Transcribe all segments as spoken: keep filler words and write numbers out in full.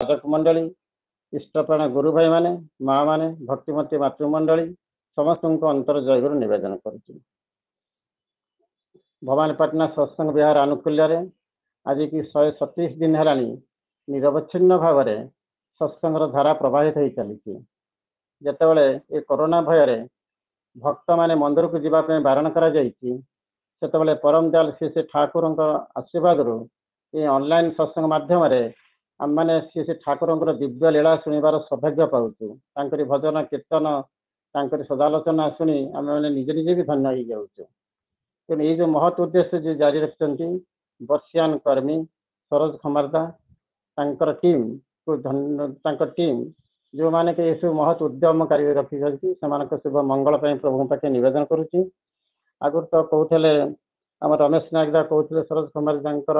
ସାଧକ ମଣ୍ଡଳୀ, ଇଷ୍ଟପ୍ରାଣ ଗୁରୁ ଭାଇମାନେ, ମା ମାନେ, ଭକ୍ତିମତୀ ମାତୃମଣ୍ଡଳୀ, ସମସ୍ତଙ୍କୁ ଅନ୍ତର ଜୟଗୁରୁ ନିବେଦନ କରୁଛି। ଭବାନୀପାଟଣା ସତ୍ସଙ୍ଗ ବିହାର ଆନୁକୂଲ୍ୟରେ ଆଜିକି ଶହେ ସତେଇଶ ଦିନ ହେଲାଣି ନିରବଚ୍ଛିନ୍ନ ଭାବରେ ସତ୍ସଙ୍ଗର ଧାରା ପ୍ରବାହିତ ହେଇ ଚାଲିଛି। ଯେତେବେଳେ ଏ କରୋନା ଭୟରେ ଭକ୍ତମାନେ ମନ୍ଦିରକୁ ଯିବା ପାଇଁ ବାରଣ କରାଯାଇଛି, ସେତେବେଳେ ପରମ ଦୟାଲ ଶ୍ରୀ ଶ୍ରୀ ଠାକୁରଙ୍କ ଆଶୀର୍ବାଦରୁ ଏ ଅନଲାଇନ ସତ୍ସଙ୍ଗ ମାଧ୍ୟମରେ ଆମମାନେ ଶ୍ରୀ ଶ୍ରୀ ଠାକୁରଙ୍କର ଦିବ୍ୟ ଲୀଳା ଶୁଣିବାର ସୌଭାଗ୍ୟ ପାଉଛୁ। ତାଙ୍କରି ଭଜନ କୀର୍ତ୍ତନ, ତାଙ୍କରି ସଦାଲୋଚନା ଶୁଣି ଆମେମାନେ ନିଜେ ନିଜେ ବି ଧନ୍ୟ ହେଇଯାଉଛୁ। ତେଣୁ ଏଇ ଯୋଉ ମହତ୍ ଉଦ୍ଦେଶ୍ୟ ଯିଏ ଜାରି ରଖିଛନ୍ତି, ବର୍ଷିୟାନ କର୍ମୀ ସରୋଜ ଖମାରଦା, ତାଙ୍କର ଟିମ୍ କୁ, ତାଙ୍କ ଟିମ୍ ଯେଉଁମାନେ କି ଏସବୁ ମହତ୍ ଉଦ୍ୟମ କାରି ରଖିଛନ୍ତି, ସେମାନଙ୍କ ଶୁଭ ମଙ୍ଗଳ ପାଇଁ ପ୍ରଭୁଙ୍କ ପାଖେ ନିବେଦନ କରୁଛି। ଆଗରୁ ତ କହୁଥିଲେ, ଆମ ରମେଶ ନାୟକ ଦା କହୁଥିଲେ, ସରୋଜ କୁମାର ତାଙ୍କର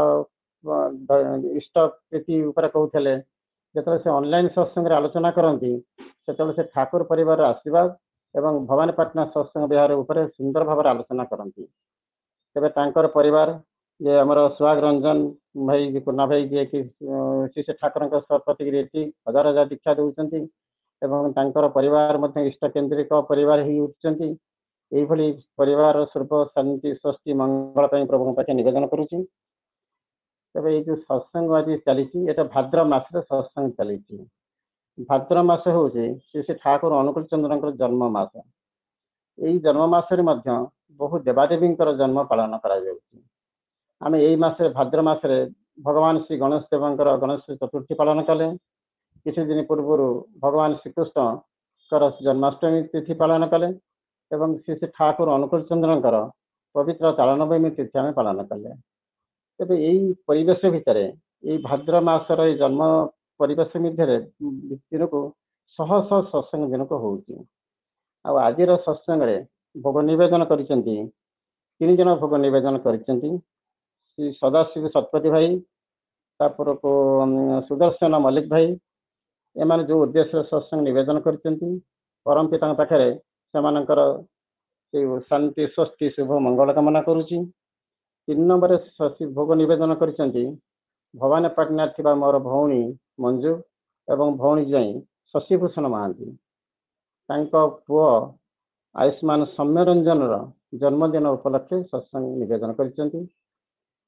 ଇଷ୍ଟ ପ୍ରୀତି ଉପରେ କହୁଥିଲେ। ଯେତେବେଳେ ସେ ଅନଲାଇନ ସତ୍ସଙ୍ଗରେ ଆଲୋଚନା କରନ୍ତି, ସେତେବେଳେ ସେ ଠାକୁର ପରିବାରର ଆଶୀର୍ବାଦ ଏବଂ ଭବାନୀପାଟଣା ସତ୍ସଙ୍ଗ ବିହାର ଉପରେ ସୁନ୍ଦର ଭାବରେ ଆଲୋଚନା କରନ୍ତି। ତେବେ ତାଙ୍କର ପରିବାର ଯେ ଆମର ସୁହାଗ ରଞ୍ଜନ ଭାଇ, କୁନା ଭାଇ, ଯିଏକି ଶ୍ରୀ ଶ୍ରୀ ଠାକୁରଙ୍କ ପ୍ରତିକ୍ରିୟା ରୀତି ହଜାର ହଜାର ଦୀକ୍ଷା ଦେଉଛନ୍ତି ଏବଂ ତାଙ୍କର ପରିବାର ମଧ୍ୟ ଇଷ୍ଟ କେନ୍ଦ୍ରିକ ପରିବାର ହେଇ ଉଠୁଛନ୍ତି। ଏଇଭଳି ପରିବାର ସର୍ବ ଶାନ୍ତି, ସ୍ୱସ୍ତି, ମଙ୍ଗଳ ପାଇଁ ପ୍ରଭୁଙ୍କ ପାଖେ ନିବେଦନ କରୁଛି। ତେବେ ଏଇ ଯୋଉ ସତ୍ସଙ୍ଗ ଆଜି ଚାଲିଛି, ଏଇଟା ଭାଦ୍ର ମାସରେ ସତ୍ସଙ୍ଗ ଚାଲିଛି। ଭାଦ୍ର ମାସ ହେଉଛି ଶ୍ରୀ ଶ୍ରୀ ଠାକୁର ଅନୁକୂଳ ଚନ୍ଦ୍ରଙ୍କର ଜନ୍ମ ମାସ। ଏଇ ଜନ୍ମ ମାସରେ ମଧ୍ୟ ବହୁ ଦେବାଦେବୀଙ୍କର ଜନ୍ମ ପାଳନ କରାଯାଉଛି। ଆମେ ଏଇ ମାସରେ, ଭାଦ୍ର ମାସରେ ଭଗବାନ ଶ୍ରୀ ଗଣେଶ ଦେବଙ୍କର ଗଣେଶ ଚତୁର୍ଥୀ ପାଳନ କଲେ। କିଛି ଦିନ ପୂର୍ବରୁ ଭଗବାନ ଶ୍ରୀକୃଷ୍ଣଙ୍କର ଜନ୍ମାଷ୍ଟମୀ ତିଥି ପାଳନ କଲେ ଏବଂ ଶ୍ରୀ ଶ୍ରୀ ଠାକୁର ଅନୁକୂଳ ଚନ୍ଦ୍ରଙ୍କର ପବିତ୍ର ତାଳନବମୀ ତିଥି ଆମେ ପାଳନ କଲେ। ତେବେ ଏଇ ପରିବେଶ ଭିତରେ, ଏଇ ଭାଦ୍ର ମାସର ଏଇ ଜନ୍ମ ପରିବେଶ ମଧ୍ୟରେ ଦିନକୁ ଶହ ଶହ ସତ୍ସଙ୍ଗ ଦିନକୁ ହଉଛି। ଆଉ ଆଜିର ସତ୍ସଙ୍ଗରେ ଭୋଗ ନିବେଦନ କରିଛନ୍ତି, ତିନି ଜଣ ଭୋଗ ନିବେଦନ କରିଛନ୍ତି। ଶ୍ରୀ ସଦାଶିବ ଶତପଥୀ ଭାଇ, ତାପରକୁ ସୁଦର୍ଶନ ମଲ୍ଲିକ ଭାଇ, ଏମାନେ ଯୋଉ ଉଦ୍ଦେଶ୍ୟରେ ସତ୍ସଙ୍ଗ ନିବେଦନ କରିଛନ୍ତି, ପରମ ପିତାଙ୍କ ପାଖରେ ସେମାନଙ୍କର ସେଇ ଶାନ୍ତି, ସ୍ୱସ୍ତି, ଶୁଭ ମଙ୍ଗଳ କାମନା କରୁଛି। ତିନି ନମ୍ବରରେ ଭୋଗ ନିବେଦନ କରିଛନ୍ତି ଭବାନୀପାଟଣାରେ ଥିବା ମୋର ଭଉଣୀ ମଞ୍ଜୁ ଏବଂ ଭଉଣୀ ଜ୍ୱାଇଁ ଶଶିଭୂଷଣ ମହାନ୍ତି। ତାଙ୍କ ପୁଅ ଆୟୁଷ୍ମାନ ସୌମ୍ୟରଞ୍ଜନର ଜନ୍ମଦିନ ଉପଲକ୍ଷେ ସତ୍ସଙ୍ଗ ନିବେଦନ କରିଛନ୍ତି।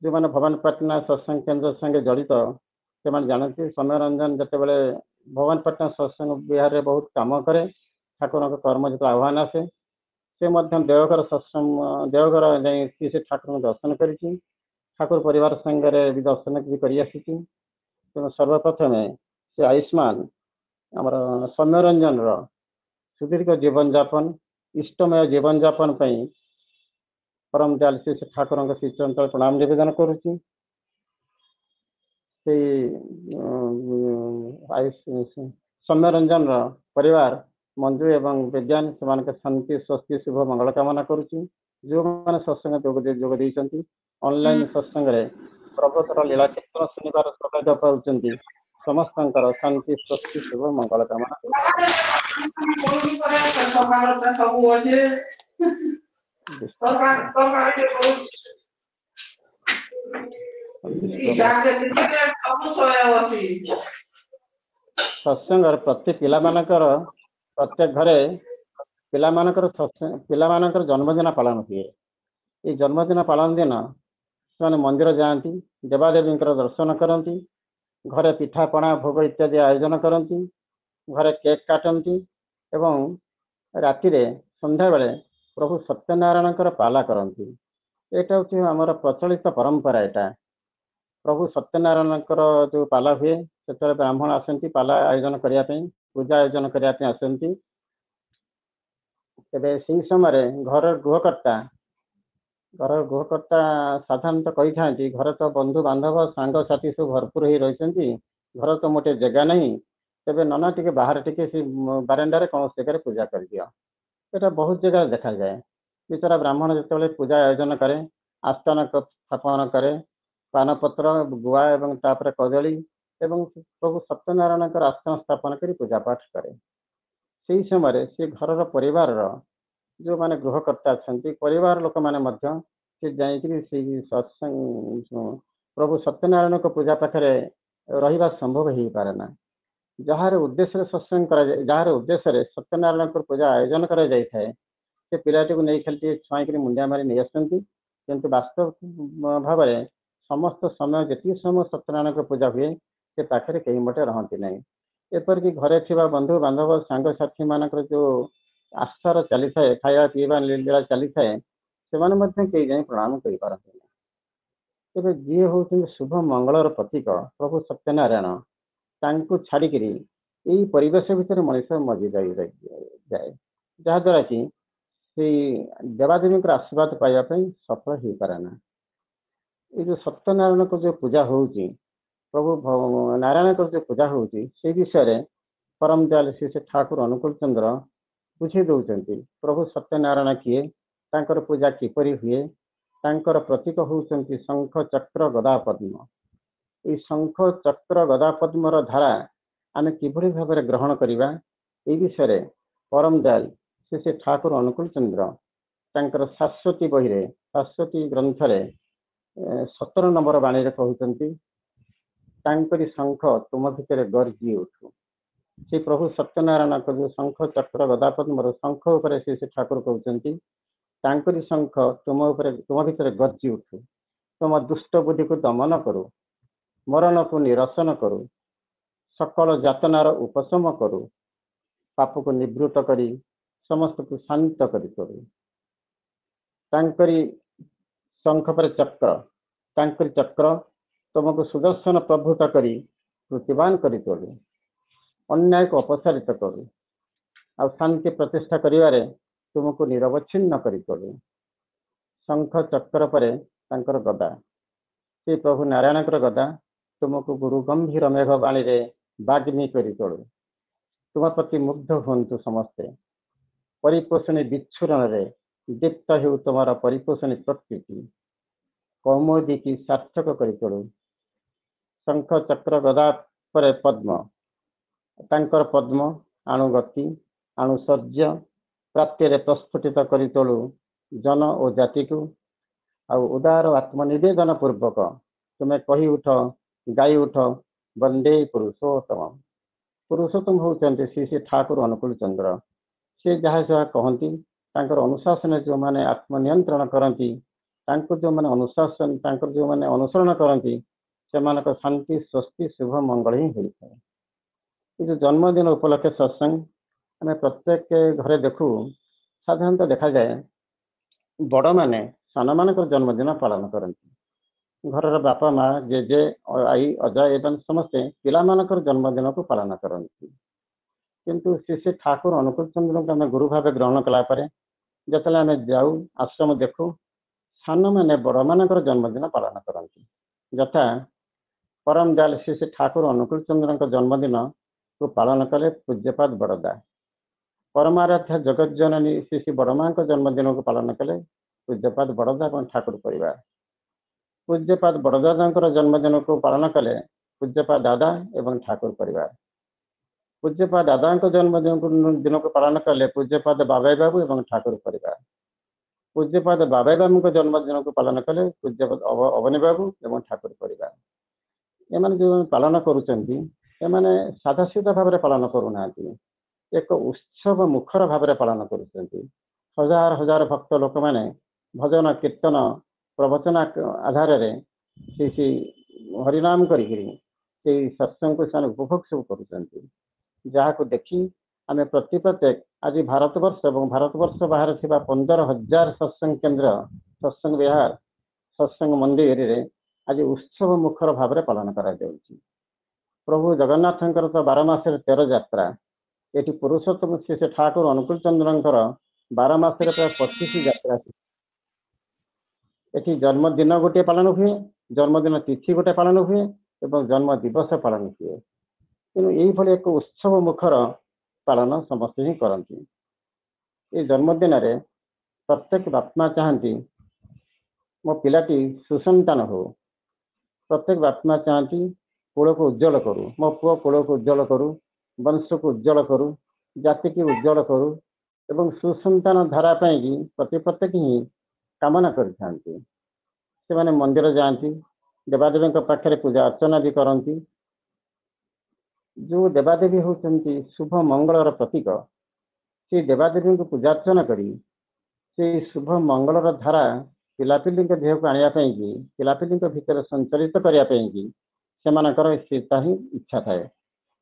ଯେଉଁମାନେ ଭବାନୀପାଟଣା ସତ୍ସଙ୍ଗ କେନ୍ଦ୍ର ସାଙ୍ଗେ ଜଡ଼ିତ, ସେମାନେ ଜାଣନ୍ତି, ସୌମ୍ୟରଞ୍ଜନ ଯେତେବେଳେ ଭବାନୀପାଟଣା ସତ୍ସଙ୍ଗ ବିହାରରେ ବହୁତ କାମ କରେ, ଠାକୁରଙ୍କ କର୍ମ ଯେତେବେଳେ ଆହ୍ୱାନ ଆସେ, ସେ ମଧ୍ୟ ଦେଓଘର ସତ୍ସଙ୍ଗ, ଦେଓଘର ଯାଇ ସେ ଠାକୁରଙ୍କୁ ଦର୍ଶନ କରିଛି, ଠାକୁର ପରିବାର ସାଙ୍ଗରେ ବି ଦର୍ଶନ ବି କରି ଆସିଛି। ତେଣୁ ସର୍ବପ୍ରଥମେ ସେ ଆୟୁଷ୍ମାନ ଆମର ସୌମ୍ୟରଞ୍ଜନର ସୁଦୀର୍ଘ ଜୀବନଯାପନ, ଇଷ୍ଟମୟ ଜୀବନଯାପନ ପାଇଁ ପରମ ଦୟାଲ ଶ୍ରୀ ଠାକୁରଙ୍କ ଶ୍ରୀଚରଣ ପ୍ରଣାମ ନିବେଦନ କରୁଛି। ସେଇ ସୌମ୍ୟରଞ୍ଜନର ପରିବାର ମଞ୍ଜୁ ଏବଂ ବିଜ୍ଞାନ, ସେମାନଙ୍କ ଶାନ୍ତି, ସ୍ୱସ୍ତି, ଶୁଭ ମଙ୍ଗଳ କାମନା କରୁଛି। ଯେଉଁମାନେ ସତ୍ସଙ୍ଗ ଯୋଗ ଯୋଗ ଦେଇଛନ୍ତି, ଅନଲାଇନ ସତ୍ସଙ୍ଗରେ ପ୍ରଭୁଙ୍କର ଲୀଳା କୀର୍ତ୍ତନ ଶୁଣିବାର ସୌଭାଗ୍ୟ ପାଉଛନ୍ତି, ସମସ୍ତଙ୍କର ଶାନ୍ତି, ସ୍ୱସ୍ତି, ଶୁଭ ମଙ୍ଗଳ କାମନା। ସବୁ ଅଛି। ସତ୍ସଙ୍ଗର ପ୍ରତି ପିଲାମାନଙ୍କର, ପ୍ରତ୍ୟେକ ଘରେ ପିଲାମାନଙ୍କର ପିଲାମାନଙ୍କର ଜନ୍ମଦିନ ପାଳନ ହୁଏ। ଏଇ ଜନ୍ମଦିନ ପାଳନ ଦିନ ସେମାନେ ମନ୍ଦିର ଯାଆନ୍ତି, ଦେବାଦେବୀଙ୍କର ଦର୍ଶନ କରନ୍ତି, ଘରେ ପିଠାପଣା ଭୋଗ ଇତ୍ୟାଦି ଆୟୋଜନ କରନ୍ତି, ଘରେ କେକ୍ କାଟନ୍ତି ଏବଂ ରାତିରେ ସନ୍ଧ୍ୟାବେଳେ ପ୍ରଭୁ ସତ୍ୟନାରାୟଣଙ୍କର ପାଲା କରନ୍ତି। ଏଇଟା ହେଉଛି ଆମର ପ୍ରଚଳିତ ପରମ୍ପରା। ଏଇଟା ପ୍ରଭୁ ସତ୍ୟନାରାୟଣଙ୍କର ଯୋଉ ପାଲା ହୁଏ, ସେତେବେଳେ ବ୍ରାହ୍ମଣ ଆସନ୍ତି ପାଲା ଆୟୋଜନ କରିବା ପାଇଁ, ପୂଜା ଆୟୋଜନ କରିବା ପାଇଁ ଆସନ୍ତି। ତେବେ ସେଇ ସମୟରେ ଘରର ଗୃହକର୍ତ୍ତା ଘରର ଗୃହକର୍ତ୍ତା ସାଧାରଣତଃ କହିଥାନ୍ତି, ଘରେ ତ ବନ୍ଧୁ ବାନ୍ଧବ ସାଙ୍ଗସାଥି ସବୁ ଭରପୁର ହେଇ ରହିଛନ୍ତି, ଘର ତ ମୋଟେ ଜାଗା ନାହିଁ, ତେବେ ନନା ଟିକେ ବାହାରେ ଟିକେ ସେ ବାରଣ୍ଡାରେ କୌଣସି ଜାଗାରେ ପୂଜା କରିଦିଅ। ଏଇଟା ବହୁତ ଜାଗାରେ ଦେଖାଯାଏ। ବିଚରା ବ୍ରାହ୍ମଣ ଯେତେବେଳେ ପୂଜା ଆୟୋଜନ କରେ, ଆସ୍ଥାନ ସ୍ଥାପନ କରେ, ପାନପତ୍ର, ଗୁଆ ଏବଂ ତାପରେ କଦଳୀ ଏବଂ ପ୍ରଭୁ ସତ୍ୟନାରାୟଣଙ୍କର ଆସ୍ଥାନ ସ୍ଥାପନ କରି ପୂଜା ପାଠ କରେ। ସେଇ ସମୟରେ ସେ ଘରର ପରିବାରର ଯେଉଁମାନେ ଗୃହକର୍ତ୍ତା ଅଛନ୍ତି, ପରିବାର ଲୋକମାନେ ମଧ୍ୟ ସେ ଯାଇକିରି ସେଇ ସତ୍ସଙ୍ଗ ପ୍ରଭୁ ସତ୍ୟନାରାୟଣଙ୍କ ପୂଜା ପାଖରେ ରହିବା ସମ୍ଭବ ହେଇପାରେ ନା। ଯାହାର ଉଦ୍ଦେଶ୍ୟରେ ସତ୍ସଙ୍ଗ କରାଯାଏ, ଯାହାର ଉଦ୍ଦେଶ୍ୟରେ ସତ୍ୟନାରାୟଣଙ୍କର ପୂଜା ଆୟୋଜନ କରାଯାଇଥାଏ, ସେ ପିଲାଟିକୁ ନେଇ ଖାଲି ଟିକେ ଛୁଆଁଇକିରି ମୁଣ୍ଡିଆ ମାରି ନେଇ ଆସନ୍ତି। କିନ୍ତୁ ବାସ୍ତବ ଭାବରେ ସମସ୍ତ ସମୟ, ଯେତିକି ସମୟ ସତ୍ୟନାରାୟଣଙ୍କ ପୂଜା ହୁଏ, ସେ ପାଖରେ କେହି ମୋଟେ ରହନ୍ତି ନାହିଁ। ଏପରିକି ଘରେ ଥିବା ବନ୍ଧୁ ବାନ୍ଧବ, ସାଙ୍ଗସାଥି ମାନଙ୍କର ଯୋଉ ଆସ୍ଥାର ଚାଲିଥାଏ, ଖାଇବା ପିଇବା ଲୀଳା ଚାଲିଥାଏ, ସେମାନେ ମଧ୍ୟ କେହି ଯାଇ ପ୍ରଣାମ କରିପାରନ୍ତି ନାହିଁ। ତେବେ ଯିଏ ହଉଛନ୍ତି ଶୁଭ ମଙ୍ଗଳର ପ୍ରତୀକ ପ୍ରଭୁ ସତ୍ୟନାରାୟଣ, ତାଙ୍କୁ ଛାଡିକିରି ଏଇ ପରିବେଶ ଭିତରେ ମଣିଷ ମଜି ଯାଇ ଯାଏ, ଯାହାଦ୍ୱାରା କି ସେଇ ଦେବାଦେବୀଙ୍କର ଆଶୀର୍ବାଦ ପାଇବା ପାଇଁ ସଫଳ ହେଇପାରେ ନା। ଏଇ ଯୋଉ ସତ୍ୟନାରାୟଣଙ୍କ ଯୋଉ ପୂଜା ହଉଛି, ପ୍ରଭୁ ନାରାୟଣଙ୍କର ଯୋଉ ପୂଜା ହଉଛି, ସେଇ ବିଷୟରେ ପରମ ଦୟାଲ ଶ୍ରୀ ଶ୍ରୀ ଠାକୁର ଅନୁକୂଳ ଚନ୍ଦ୍ର ବୁଝେଇ ଦଉଛନ୍ତି। ପ୍ରଭୁ ସତ୍ୟନାରାୟଣ କିଏ, ତାଙ୍କର ପୂଜା କିପରି ହୁଏ, ତାଙ୍କର ପ୍ରତୀକ ହଉଛନ୍ତି ଶଙ୍ଖ, ଚକ୍ର, ଗଦା, ପଦ୍ମ। ଏଇ ଶଙ୍ଖ, ଚକ୍ର, ଗଦା, ପଦ୍ମର ଧାରା ଆମେ କିଭଳି ଭାବରେ ଗ୍ରହଣ କରିବା, ଏଇ ବିଷୟରେ ପରମ ଦୟାଲ ଶ୍ରୀ ଶ୍ରୀ ଠାକୁର ଅନୁକୂଳ ଚନ୍ଦ୍ର ତାଙ୍କର ଶାଶ୍ୱତୀ ବହିରେ, ଶାଶ୍ୱତୀ ଗ୍ରନ୍ଥରେ ସତର ନମ୍ବର ବାଣୀରେ କହୁଛନ୍ତି, ତାଙ୍କରି ଶଙ୍ଖ ତୁମ ଭିତରେ ଗର୍ଜି ଉଠୁ। ସେ ପ୍ରଭୁ ସତ୍ୟନାରାୟଣଙ୍କ ଯୋଉ ଶଙ୍ଖ, ଚକ୍ର, ଗଦା, ପଦ୍ମର ଶଙ୍ଖ ଉପରେ ସେ ସେ ଠାକୁର କହୁଛନ୍ତି, ତାଙ୍କରି ଶଙ୍ଖ ତୁମ ଉପରେ, ତୁମ ଭିତରେ ଗର୍ଜି ଉଠୁ, ତୁମ ଦୁଷ୍ଟ ବୁଦ୍ଧିକୁ ଦମନ କରୁ, ମରଣକୁ ନିରସନ କରୁ, ସକଳ ଯାତନାର ଉପଶମ କରୁ, ପାପକୁ ନିବୃତ୍ତ କରି ସମସ୍ତକୁ ଶାନ୍ତ କରି କରୁ। ତାଙ୍କରି ଶଙ୍ଖ ପରେ ଚକ୍ର, ତାଙ୍କରି ଚକ୍ର ତୁମକୁ ସୁଦର୍ଶନ ପ୍ରଭୃତ କରି କୃତିବାନ କରି ତୋଳୁ, ଅନ୍ୟାୟକୁ ଅପସାରିତ କରୁ, ଆଉ ଶାନ୍ତି ପ୍ରତିଷ୍ଠା କରିବାରେ ତୁମକୁ ନିରବଚ୍ଛିନ୍ନ କରି ତୋଳୁ। ଶଙ୍ଖ ଚକ୍ର ପରେ ତାଙ୍କର ଗଦା, ସେ ପ୍ରଭୁ ନାରାୟଣଙ୍କର ଗଦା ତୁମକୁ ଗୁରୁ ଗମ୍ଭୀର ମେଘ ବାଣୀରେ ବାଗ୍ମୀ କରି ତୋଳୁ। ତୁମ ପ୍ରତି ମୁଗ୍ଧ ହୁଅନ୍ତୁ ସମସ୍ତେ, ପରିପୋଷଣୀ ବିଚ୍ଛୁରଣରେ ଦୀପ୍ତ ହେଉ ତୁମର ପରିପୋଷଣୀ ପ୍ରକୃତି, କୌମୋଦିକି ସାର୍ଥକ କରି ତୋଳୁ। ଶଙ୍ଖ, ଚକ୍ର, ଗଦା ପରେ ପଦ୍ମ, ତାଙ୍କର ପଦ୍ମ ଆଣୁ ଗତି, ଆଣୁ ଶୌର୍ଯ୍ୟ, ପ୍ରାପ୍ତିରେ ପ୍ରସ୍ଫୁଟିତ କରି ତୋଳୁ ଜନ ଓ ଜାତିକୁ। ଆଉ ଉଦାର ଆତ୍ମନିବେଦନ ପୂର୍ବକ ତୁମେ କହି ଉଠ, ଗାଇ ଉଠ, ବନ୍ଦେ ପୁରୁଷୋତ୍ତମ। ପୁରୁଷୋତ୍ତମ ହଉଛନ୍ତି ଶ୍ରୀ ଶ୍ରୀ ଠାକୁର ଅନୁକୂଳ ଚନ୍ଦ୍ର। ସେ ଯାହା ଯାହା କହନ୍ତି, ତାଙ୍କର ଅନୁଶାସନରେ ଯେଉଁମାନେ ଆତ୍ମନିୟନ୍ତ୍ରଣ କରନ୍ତି, ତାଙ୍କୁ ଯେଉଁମାନେ ଅନୁଶାସନ, ତାଙ୍କର ଯେଉଁମାନେ ଅନୁସରଣ କରନ୍ତି, ସେମାନଙ୍କ ଶାନ୍ତି, ସ୍ୱସ୍ତି, ଶୁଭ ମଙ୍ଗଳ ହିଁ ହୋଇଥାଏ। ଏ ଯୋଉ ଜନ୍ମଦିନ ଉପଲକ୍ଷେ ସତ୍ସଙ୍ଗ ଆମେ ପ୍ରତ୍ୟେକ ଘରେ ଦେଖୁ। ସାଧାରଣତଃ ଦେଖାଯାଏ ବଡ଼ମାନେ ସାନମାନଙ୍କର ଜନ୍ମଦିନ ପାଳନ କରନ୍ତି। ଘରର ବାପା, ମା, ଜେଜେ, ଆଈ, ଅଜା ଏବଂ ସମସ୍ତେ ପିଲାମାନଙ୍କର ଜନ୍ମଦିନକୁ ପାଳନ କରନ୍ତି। କିନ୍ତୁ ଶ୍ରୀ ଶ୍ରୀ ଠାକୁର ଅନୁକୂଳ ଚନ୍ଦ୍ରଙ୍କୁ ଆମେ ଗୁରୁ ଭାବେ ଗ୍ରହଣ କଲା ପରେ ଯେତେବେଳେ ଆମେ ଯାଉ ଆଶ୍ରମ ଦେଖୁ, ସାନମାନେ ବଡ଼ମାନଙ୍କର ଜନ୍ମଦିନ ପାଳନ କରନ୍ତି। ଯଥା ପରମ ଦୟାଲ ଶ୍ରୀ ଶ୍ରୀ ଠାକୁର ଅନୁକୂଳ ଚନ୍ଦ୍ରଙ୍କ ଜନ୍ମଦିନକୁ ପାଳନ କଲେ ପୂଜ୍ୟପାଦ ବଡ଼ଦା। ପରମାରାଧ୍ୟା ଜଗତ ଜନନୀ ଶ୍ରୀ ଶ୍ରୀ ବଡ଼ମାଙ୍କ ଜନ୍ମଦିନକୁ ପାଳନ କଲେ ପୂଜ୍ୟପାଦ ବଡ଼ଦା ଏବଂ ଠାକୁର ପରିବାର। ପୂଜ୍ୟପାଦ ବଡ଼ଦାଦାଙ୍କର ଜନ୍ମଦିନକୁ ପାଳନ କଲେ ପୂଜ୍ୟପାଦ ଦାଦା ଏବଂ ଠାକୁର ପରିବାର। ପୂଜ୍ୟପାଦ ଦାଦାଙ୍କ ଜନ୍ମଦିନକୁ ଦିନକୁ ପାଳନ କଲେ ପୂଜ୍ୟପାଦ ବାବାଇ ବାବୁ ଏବଂ ଠାକୁର ପରିବାର। ପୂଜ୍ୟପାଦ ବାବାଇ ବାବୁଙ୍କ ଜନ୍ମଦିନକୁ ପାଳନ କଲେ ପୂଜ୍ୟପାଦ ଅବନୀ ବାବୁ ଏବଂ ଠାକୁର ପରିବାର। ଏମାନେ ଯେଉଁ ପାଳନ କରୁଛନ୍ତି, ଏମାନେ ସାଧାସିଧା ଭାବରେ ପାଳନ କରୁନାହାନ୍ତି, ଏକ ଉତ୍ସବ ମୁଖର ଭାବରେ ପାଳନ କରୁଛନ୍ତି। ହଜାର ହଜାର ଭକ୍ତ ଲୋକମାନେ ଭଜନ, କୀର୍ତ୍ତନ, ପ୍ରବଚନ ଆଧାରରେ ସେଇ ସେଇ ହରିନାମ କରିକିରି ସେଇ ସତ୍ସଙ୍ଗକୁ ସେମାନେ ଉପଭୋଗ ସବୁ କରୁଛନ୍ତି, ଯାହାକୁ ଦେଖି ଆମେ ପ୍ରତି ପ୍ରତ୍ୟେକ ଆଜି ଭାରତବର୍ଷ ଏବଂ ଭାରତବର୍ଷ ବାହାରେ ଥିବା ପନ୍ଦର ହଜାର ସତ୍ସଙ୍ଗ କେନ୍ଦ୍ର, ସତ୍ସଙ୍ଗ ବିହାର, ସତ୍ସଙ୍ଗ ମନ୍ଦିରରେ ଆଜି ଉତ୍ସବ ମୁଖର ଭାବରେ ପାଳନ କରାଯାଉଛି। ପ୍ରଭୁ ଜଗନ୍ନାଥଙ୍କର ତ ବାର ମାସରେ ତେର ଯାତ୍ରା, ଏଠି ପୁରୁଷୋତ୍ତମ ଶ୍ରୀ ଶ୍ରୀ ଠାକୁର ଅନୁକୂଳ ଚନ୍ଦ୍ରଙ୍କର ବାର ମାସରେ ପ୍ରାୟ ପଚିଶ ଯାତ୍ରା। ଏଠି ଜନ୍ମଦିନ ଗୋଟିଏ ପାଳନ ହୁଏ, ଜନ୍ମଦିନ ତିଥି ଗୋଟେ ପାଳନ ହୁଏ ଏବଂ ଜନ୍ମ ଦିବସ ପାଳନ ହୁଏ। ତେଣୁ ଏଇଭଳି ଏକ ଉତ୍ସବ ମୁଖର ପାଳନ ସମସ୍ତେ ହିଁ କରନ୍ତି। ଏଇ ଜନ୍ମଦିନରେ ପ୍ରତ୍ୟେକ ବାପା ମା ଚାହାନ୍ତି ମୋ ପିଲାଟି ସୁସନ୍ତାନ ହଉ। ପ୍ରତ୍ୟେକ ବାପା ମା ଚାହାନ୍ତି କୂଳକୁ ଉଜ୍ଜଳ କରୁ, ମୋ ପୁଅ କୂଳକୁ ଉଜ୍ଜଳ କରୁ, ବଂଶକୁ ଉଜ୍ଜଳ କରୁ, ଜାତିକି ଉଜ୍ଜଳ କରୁ ଏବଂ ସୁସନ୍ତାନ ଧାରା ପାଇଁକି ପ୍ରତି ପ୍ରତ୍ୟେକ ହିଁ କାମନା କରିଥାନ୍ତି। ସେମାନେ ମନ୍ଦିର ଯାଆନ୍ତି, ଦେବାଦେବୀଙ୍କ ପାଖରେ ପୂଜା ଅର୍ଚ୍ଚନା ବି କରନ୍ତି। ଯେଉଁ ଦେବାଦେବୀ ହେଉଛନ୍ତି ଶୁଭ ମଙ୍ଗଳର ପ୍ରତୀକ, ସେଇ ଦେବାଦେବୀଙ୍କୁ ପୂଜାର୍ଚ୍ଚନା କରି ସେଇ ଶୁଭ ମଙ୍ଗଳର ଧାରା ପିଲାପିଲିଙ୍କ ଦେହକୁ ଆଣିବା ପାଇଁକି, ପିଲାପିଲିଙ୍କ ଭିତରେ ସଞ୍ଚରିତ କରିବା ପାଇଁକି ସେମାନଙ୍କର ସେଇଟା ହିଁ ଇଚ୍ଛା ଥାଏ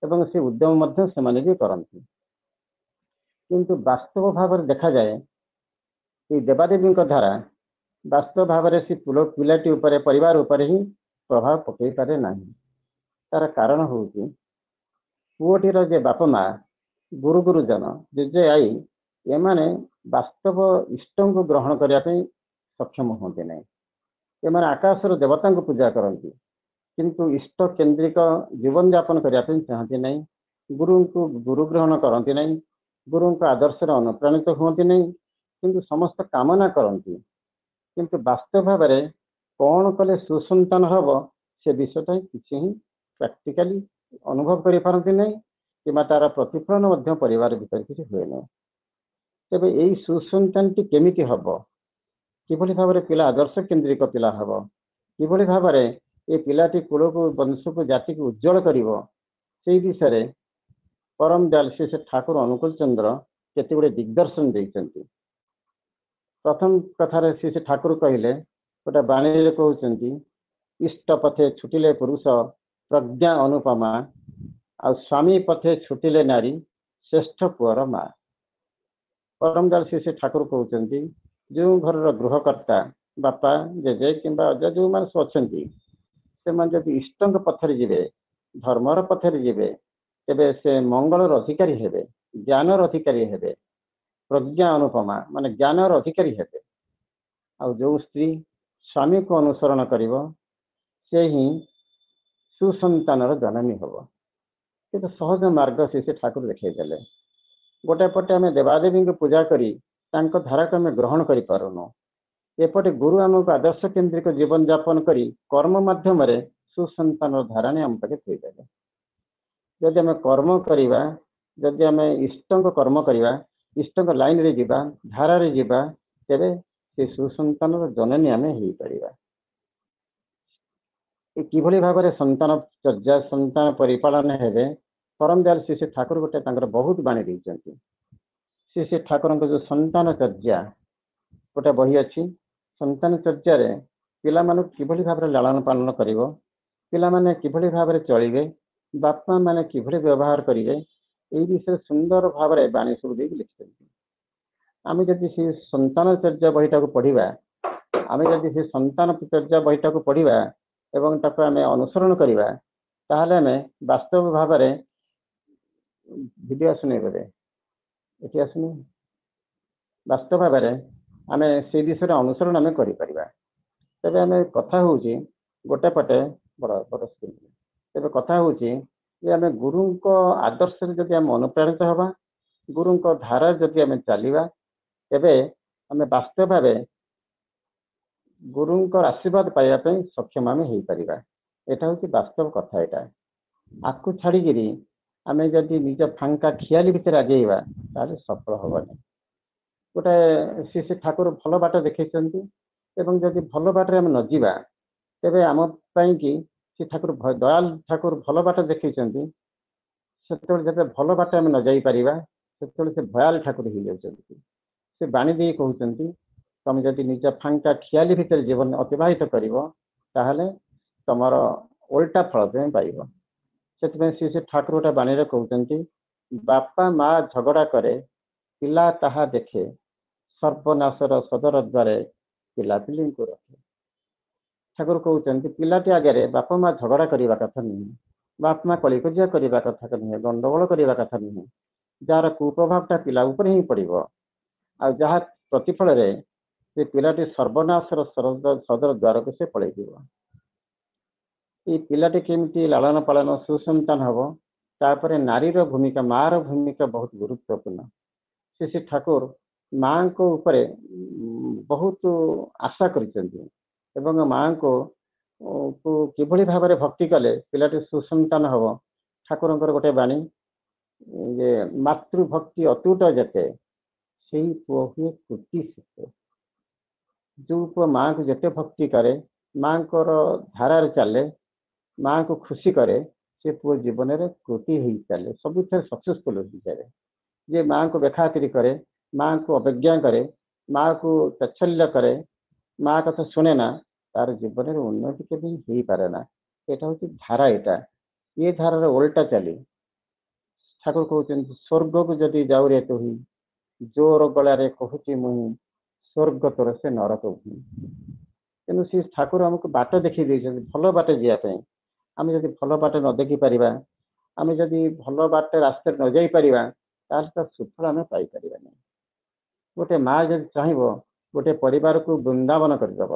ଏବଂ ସେ ଉଦ୍ୟମ ମଧ୍ୟ ସେମାନେ ବି କରନ୍ତି। କିନ୍ତୁ ବାସ୍ତବ ଭାବରେ ଦେଖାଯାଏ ଏଇ ଦେବାଦେବୀଙ୍କ ଧାରା ବାସ୍ତବ ଭାବରେ ସେ ପିଲାଟି ଉପରେ, ପରିବାର ଉପରେ ହିଁ ପ୍ରଭାବ ପକେଇ ପାରେ ନାହିଁ। ତାର କାରଣ ହେଉଛି ପୁଅଟିର ଯେ ବାପା ମା, ଗୁରୁ ଗୁରୁଜନ, ଜେଜେ ଆଈ, ଏମାନେ ବାସ୍ତବ ଇଷ୍ଟଙ୍କୁ ଗ୍ରହଣ କରିବା ପାଇଁ ସକ୍ଷମ ହୁଅନ୍ତି ନାହିଁ। ଏମାନେ ଆକାଶର ଦେବତାଙ୍କୁ ପୂଜା କରନ୍ତି, କିନ୍ତୁ ଇଷ୍ଟ କେନ୍ଦ୍ରିକ ଜୀବନଯାପନ କରିବା ପାଇଁ ଚାହାନ୍ତି ନାହିଁ। ଗୁରୁଙ୍କୁ ଗୁରୁ ଗ୍ରହଣ କରନ୍ତି ନାହିଁ, ଗୁରୁଙ୍କ ଆଦର୍ଶରେ ଅନୁପ୍ରାଣିତ ହୁଅନ୍ତି ନାହିଁ, କିନ୍ତୁ ସମସ୍ତ କାମନା କରନ୍ତି। କିନ୍ତୁ ବାସ୍ତବ ଭାବରେ କ'ଣ କଲେ ସୁସନ୍ତାନ ହବ ସେ ବିଷୟଟା କିଛି ହିଁ ପ୍ରାକ୍ଟିକାଲି ଅନୁଭବ କରିପାରନ୍ତି ନାହିଁ, କିମ୍ବା ତାର ପ୍ରତିଫଳନ ମଧ୍ୟ ପରିବାର ଭିତରେ କିଛି ହୁଏ ନାହିଁ। ତେବେ ଏଇ ସୁସନ୍ତାନଟି କେମିତି ହବ, କିଭଳି ଭାବରେ ପିଲା ଆଦର୍ଶ କେନ୍ଦ୍ରିକ ପିଲା ହବ, କିଭଳି ଭାବରେ ଏ ପିଲାଟି କୂଳକୁ, ବଂଶକୁ, ଜାତିକୁ ଉଜ୍ଜଳ କରିବ, ସେଇ ବିଷୟରେ ପରମ ଦୟାଲ ଶ୍ରୀ ଶ୍ରୀ ଠାକୁର ଅନୁକୂଳ ଚନ୍ଦ୍ର କେତେ ଗୁଡ଼ିଏ ଦିଗ୍ଦର୍ଶନ ଦେଇଛନ୍ତି। ପ୍ରଥମ କଥାରେ ଶ୍ରୀ ଶ୍ରୀ ଠାକୁର କହିଲେ, ଗୋଟେ ବାଣୀରେ କହୁଛନ୍ତି, ଇଷ୍ଟ ପଥେ ଛୁଟିଲେ ପୁରୁଷ ପ୍ରଜ୍ଞା ଅନୁପମା, ଆଉ ସ୍ୱାମୀ ପଥେ ଛୁଟିଲେ ନାରୀ ଶ୍ରେଷ୍ଠ ପୁଅର ମା। ପରମ ଦୟାଲ ଶ୍ରୀ ଶ୍ରୀ ଠାକୁର କହୁଛନ୍ତି, ଯେଉଁ ଘରର ଗୃହକର୍ତ୍ତା ବାପା, ଜେଜେ କିମ୍ବା ଅଜା ଯେଉଁମାନେ ସବୁ ଅଛନ୍ତି, ସେମାନେ ଯଦି ଇଷ୍ଟଙ୍କ ପଥରେ ଯିବେ, ଧର୍ମର ପଥରେ ଯିବେ, ତେବେ ସେ ମଙ୍ଗଳର ଅଧିକାରୀ ହେବେ, ଜ୍ଞାନର ଅଧିକାରୀ ହେବେ, ପ୍ରଜ୍ଞା ଅନୁପମା ମାନେ ଜ୍ଞାନର ଅଧିକାରୀ ହେବେ। ଆଉ ଯେଉଁ ସ୍ତ୍ରୀ ସ୍ୱାମୀକୁ ଅନୁସରଣ କରିବ ସେ ହିଁ ସୁସନ୍ତାନର ଜନନୀ ହେବ। କିନ୍ତୁ ସହଜ ମାର୍ଗ ସେ ସେ ଠାକୁର ଦେଖେଇଦେଲେ। ଗୋଟେ ପଟେ ଆମେ ଦେବାଦେବୀଙ୍କୁ ପୂଜା କରି ତାଙ୍କ ଧାରାକୁ ଆମେ ଗ୍ରହଣ କରିପାରୁନୁ, ଏପଟେ ଗୁରୁ ଆମକୁ ଆଦର୍ଶ କେନ୍ଦ୍ରିକ ଜୀବନଯାପନ କରି କର୍ମ ମାଧ୍ୟମରେ ସୁସନ୍ତାନର ଧାରା ନେଇ ଆମ ପାଖେ ଥୋଇଦେଲେ। ଯଦି ଆମେ କର୍ମ କରିବା, ଯଦି ଆମେ ଇଷ୍ଟଙ୍କ କର୍ମ କରିବା, ଇଷ୍ଟଙ୍କ ଲାଇନରେ ଯିବା, ଧାରାରେ ଯିବା, ତେବେ ସେ ସୁସନ୍ତାନର ଜନନୀ ଆମେ ହେଇପାରିବା। କିଭଳି ଭାବରେ ସନ୍ତାନ ଚର୍ଚ୍ଚା, ସନ୍ତାନ ପରିପାଳନ ହେବେ, ପରମ ଦୟାଲ ଶ୍ରୀ ଶ୍ରୀ ଠାକୁର ଗୋଟେ ତାଙ୍କର ବହୁତ ବାଣୀ ଦେଇଛନ୍ତି। ଶ୍ରୀ ଶ୍ରୀ ଠାକୁରଙ୍କ ଯୋଉ ସନ୍ତାନ ଚର୍ଚ୍ଚା ଗୋଟେ ବହି ଅଛି, ସନ୍ତାନ ଚର୍ଚ୍ଚାରେ ପିଲାମାନଙ୍କୁ କିଭଳି ଭାବରେ ଲାଳନ ପାଳନ କରିବ, ପିଲାମାନେ କିଭଳି ଭାବରେ ଚଳିବେ, ବାପା ମାନେ କିଭଳି ବ୍ୟବହାର କରିବେ, ଏଇ ବିଷୟରେ ସୁନ୍ଦର ଭାବରେ ବାଣୀ ସବୁ ଦେଇକି ଲେଖିଛନ୍ତି। ଆମେ ଯଦି ସେ ସନ୍ତାନ ଚର୍ଚ୍ଚା ବହିଟାକୁ ପଢିବା, ଆମେ ଯଦି ସେ ସନ୍ତାନ ଚର୍ଚ୍ଚା ବହିଟାକୁ ପଢିବା ଏବଂ ତାକୁ ଆମେ ଅନୁସରଣ କରିବା, ତାହେଲେ ଆମେ ବାସ୍ତବ ଭାବରେ ଭିଡ଼ିଓ ଆସୁନି ବୋଧେ, ଏଠି ଆସୁନି, ବାସ୍ତବ ଭାବରେ ଆମେ ସେଇ ବିଷୟରେ ଅନୁସରଣ ଆମେ କରିପାରିବା। ତେବେ ଆମେ କଥା ହେଉଛି ଗୋଟେ ପଟେ ବଡ଼ ବଡ଼ ସ୍କ୍ରିନ୍, ତେବେ କଥା ହେଉଛି ଯେ ଆମେ ଗୁରୁଙ୍କ ଆଦର୍ଶରେ ଯଦି ଆମେ ଅନୁପ୍ରାଣିତ ହେବା, ଗୁରୁଙ୍କ ଧାରାରେ ଯଦି ଆମେ ଚାଲିବା, ତେବେ ଆମେ ବାସ୍ତବ ଭାବେ ଗୁରୁଙ୍କର ଆଶୀର୍ବାଦ ପାଇବା ପାଇଁ ସକ୍ଷମ ଆମେ ହେଇପାରିବା। ଏଇଟା ହେଉଛି ବାସ୍ତବ କଥା। ଏଇଟା ଆକୁ ଛାଡ଼ିକିରି ଆମେ ଯଦି ନିଜ ଫାଙ୍କା ଖିଆଲି ଭିତରେ ଆଗେଇବା ତାହେଲେ ସଫଳ ହବନି। ଗୋଟେ ଶ୍ରୀ ଶ୍ରୀ ଠାକୁର ଭଲ ବାଟ ଦେଖେଇଛନ୍ତି ଏବଂ ଯଦି ଭଲ ବାଟରେ ଆମେ ନ ଯିବା ତେବେ ଆମ ପାଇଁକି ଶ୍ରୀ ଠାକୁର ଦୟାଲ ଠାକୁର ଭଲ ବାଟ ଦେଖେଇଛନ୍ତି। ସେତେବେଳେ ଯେତେବେଳେ ଭଲ ବାଟ ଆମେ ନ ଯାଇପାରିବା ସେତେବେଳେ ସେ ଭୟାଲ ଠାକୁର ହେଇଯାଉଛନ୍ତି। ସେ ବାଣୀ ଦେଇ କହୁଛନ୍ତି, ତମେ ଯଦି ନିଜ ଫାଙ୍କା ଖିଆଲି ଭିତରେ ଜୀବନ ଅତିବାହିତ କରିବ ତାହେଲେ ତମର ଓଲଟା ଫଳ ତୁମେ ପାଇବ। ସେଥିପାଇଁ ଶ୍ରୀ ଶ୍ରୀ ଠାକୁର ଗୋଟେ ବାଣୀରେ କହୁଛନ୍ତି, ବାପା ମା ଝଗଡ଼ା କରେ ପିଲା ତାହା ଦେଖେ, ସର୍ବନାଶର ସଦର ଦ୍ୱାରେ ପିଲାପିଲିଙ୍କୁ ରଖେ। ଠାକୁର କହୁଛନ୍ତି ପିଲାଟି ଆଗରେ ବାପା ମା ଝଗଡ଼ା କରିବା କଥା ନୁହେଁ, ବାପା ମା କଳିକଜିଆ କରିବା କଥା ନୁହେଁ, ଗଣ୍ଡଗୋଳ କରିବା କଥା ନୁହେଁ, ଯାହାର କୁପ୍ରଭାବଟା ପିଲା ଉପରେ ହିଁ ପଡ଼ିବ। ଆଉ ଯାହା ପ୍ରତିଫଳରେ ସେ ପିଲାଟି ସର୍ବନାଶର ସଦର ଦ୍ୱାରକୁ ସେ ପଳେଇଯିବ। ଏଇ ପିଲାଟି କେମିତି ଲାଳନ ପାଳନ ସୁସନ୍ତାନ ହବ, ତାପରେ ନାରୀର ଭୂମିକା, ମାର ଭୂମିକା ବହୁତ ଗୁରୁତ୍ୱପୂର୍ଣ୍ଣ। ଶ୍ରୀ ଶ୍ରୀ ଠାକୁର ମାଙ୍କ ଉପରେ ବହୁତ ଆଶା କରିଛନ୍ତି ଏବଂ ମାଙ୍କୁ କିଭଳି ଭାବରେ ଭକ୍ତି କଲେ ପିଲାଟି ସୁସନ୍ତାନ ହବ। ଠାକୁରଙ୍କର ଗୋଟେ ବାଣୀ ଯେ ମାତୃଭକ୍ତି ଅତୁଟ ଯେତେ ସେଇ ପୁଅ ହୁଏ କୃତି ସେତେ। ଯୋଉ ପୁଅ ମାଙ୍କୁ ଯେତେ ଭକ୍ତି କରେ, ମାଙ୍କର ଧାରାରେ ଚାଲେ, ମାଙ୍କୁ ଖୁସି କରେ, ସେ ପୁଅ ଜୀବନରେ କୃତି ହେଇ ଚାଲେ, ସବୁଥିରେ ସକ୍ସେସଫୁଲ ହେଇଚାଲେ। ଯିଏ ମାଆଙ୍କୁ ବେଖାତିରି କରେ, ମାଆଙ୍କୁ ଅବଜ୍ଞା କରେ, ମାଆକୁ ତାଚ୍ଛଲ୍ୟ କରେ, ମା କଥା ଶୁଣେ ନା, ତାର ଜୀବନରେ ଉନ୍ନତି କେବେ ହେଇପାରେ ନା। ଏଇଟା ହଉଛି ଧାରା। ଏଇଟା ଏ ଧାରାର ଓଲଟା ଚାଲି ଠାକୁର କହୁଛନ୍ତି, ସ୍ୱର୍ଗକୁ ଯଦି ଯାଉରେ ତୁହି, ଜୋର ଗଳାରେ କହୁଛି ମୁହିଁ, ସ୍ୱର୍ଗ ତୋର ସେ ନରକ ଭୂଇଁ। ତେଣୁ ସେ ଠାକୁର ଆମକୁ ବାଟ ଦେଖେଇ ଦେଇଛନ୍ତି ଭଲ ବାଟ ଯିବା ପାଇଁ। ଆମେ ଯଦି ଭଲ ବାଟ ନ ଦେଖିପାରିବା, ଆମେ ଯଦି ଭଲ ବାଟ ରାସ୍ତାରେ ନ ଯାଇପାରିବା, ତାହେଲେ ତା ସୁଫଳ ଆମେ ପାଇପାରିବା ନାହିଁ। ଗୋଟେ ମା ଯଦି ଚାହିଁବ, ଗୋଟେ ପରିବାରକୁ ବୃନ୍ଦାବନ କରିଦବ,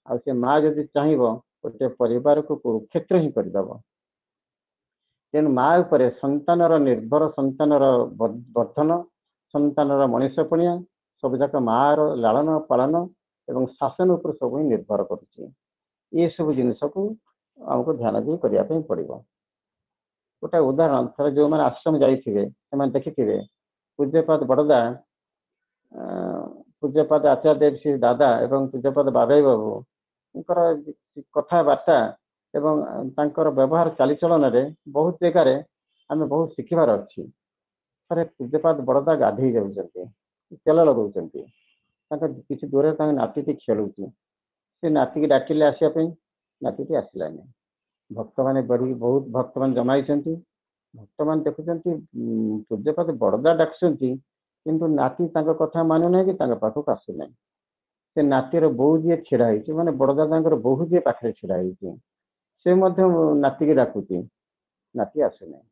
ଆଉ ସେ ମା ଯଦି ଚାହିଁବ, ଗୋଟେ ପରିବାରକୁ କୁରୁକ୍ଷେତ୍ର ହିଁ କରିଦବ। ତେଣୁ ମା ଉପରେ ସନ୍ତାନର ନିର୍ଭର, ସନ୍ତାନର ବର୍ଦ୍ଧନ, ସନ୍ତାନର ମଣିଷ ପଣିଆ ସବୁଯାକ ମାର ଲାଳନ ପାଳନ ଏବଂ ଶାସନ ଉପରେ ସବୁ ହିଁ ନିର୍ଭର କରୁଛି। ଏସବୁ ଜିନିଷକୁ ଆମକୁ ଧ୍ୟାନ ଦେଇ କରିବା ପାଇଁ ପଡିବ। ଗୋଟେ ଉଦାହରଣ, ଥରେ ଯୋଉମାନେ ଆଶ୍ରମ ଯାଇଥିବେ ସେମାନେ ଦେଖିଥିବେ, ପୂଜ୍ୟପାଦ ବଡଦା, ପୂଜ୍ୟପାଦ ଆଚାର୍ଯ୍ୟ ଦେବ ଶ୍ରୀ ଦାଦା ଏବଂ ପୂଜ୍ୟପାଦ ବାବାଇ ବାବୁଙ୍କର କଥାବାର୍ତ୍ତା ଏବଂ ତାଙ୍କର ବ୍ୟବହାର ଚାଲିଚଳନରେ ବହୁତ ଜାଗାରେ ଆମେ ବହୁତ ଶିଖିବାର ଅଛି। ଥରେ ପୂଜ୍ୟପାଦ ବଡଦା ଗାଧେଇ ଯାଉଛନ୍ତି, ତେଲ ଲଗାଉଛନ୍ତି। ତାଙ୍କ କିଛି ଦୂରରେ ତାଙ୍କ ନାତିଟି ଖେଳୁଛି। ସେ ନାତିକି ଡାକିଲେ ଆସିବା ପାଇଁ, ନାତିଟି ଆସିଲାନି। ଭକ୍ତମାନେ ବଢି ବହୁତ ଭକ୍ତମାନେ ଜମାଇଛନ୍ତି। ଭକ୍ତମାନେ ଦେଖୁଛନ୍ତି ପୂଜ୍ୟପାଦ ବଡଦା ଡାକୁଛନ୍ତି, କିନ୍ତୁ ନାତି ତାଙ୍କ କଥା ମାନୁନାହିଁ କି ତାଙ୍କ ପାଖକୁ ଆସୁନାହିଁ। ସେ ନାତିର ବୋଉ ଯିଏ ଛିଡା ହେଇଛି, ମାନେ ବଡଦାଦାଙ୍କର ବୋହୂ ଯିଏ ପାଖରେ ଛିଡା ହେଇଛି, ସେ ମଧ୍ୟ ନାତିକି ଡାକୁଛି, ନାତି ଆସୁନାହିଁ।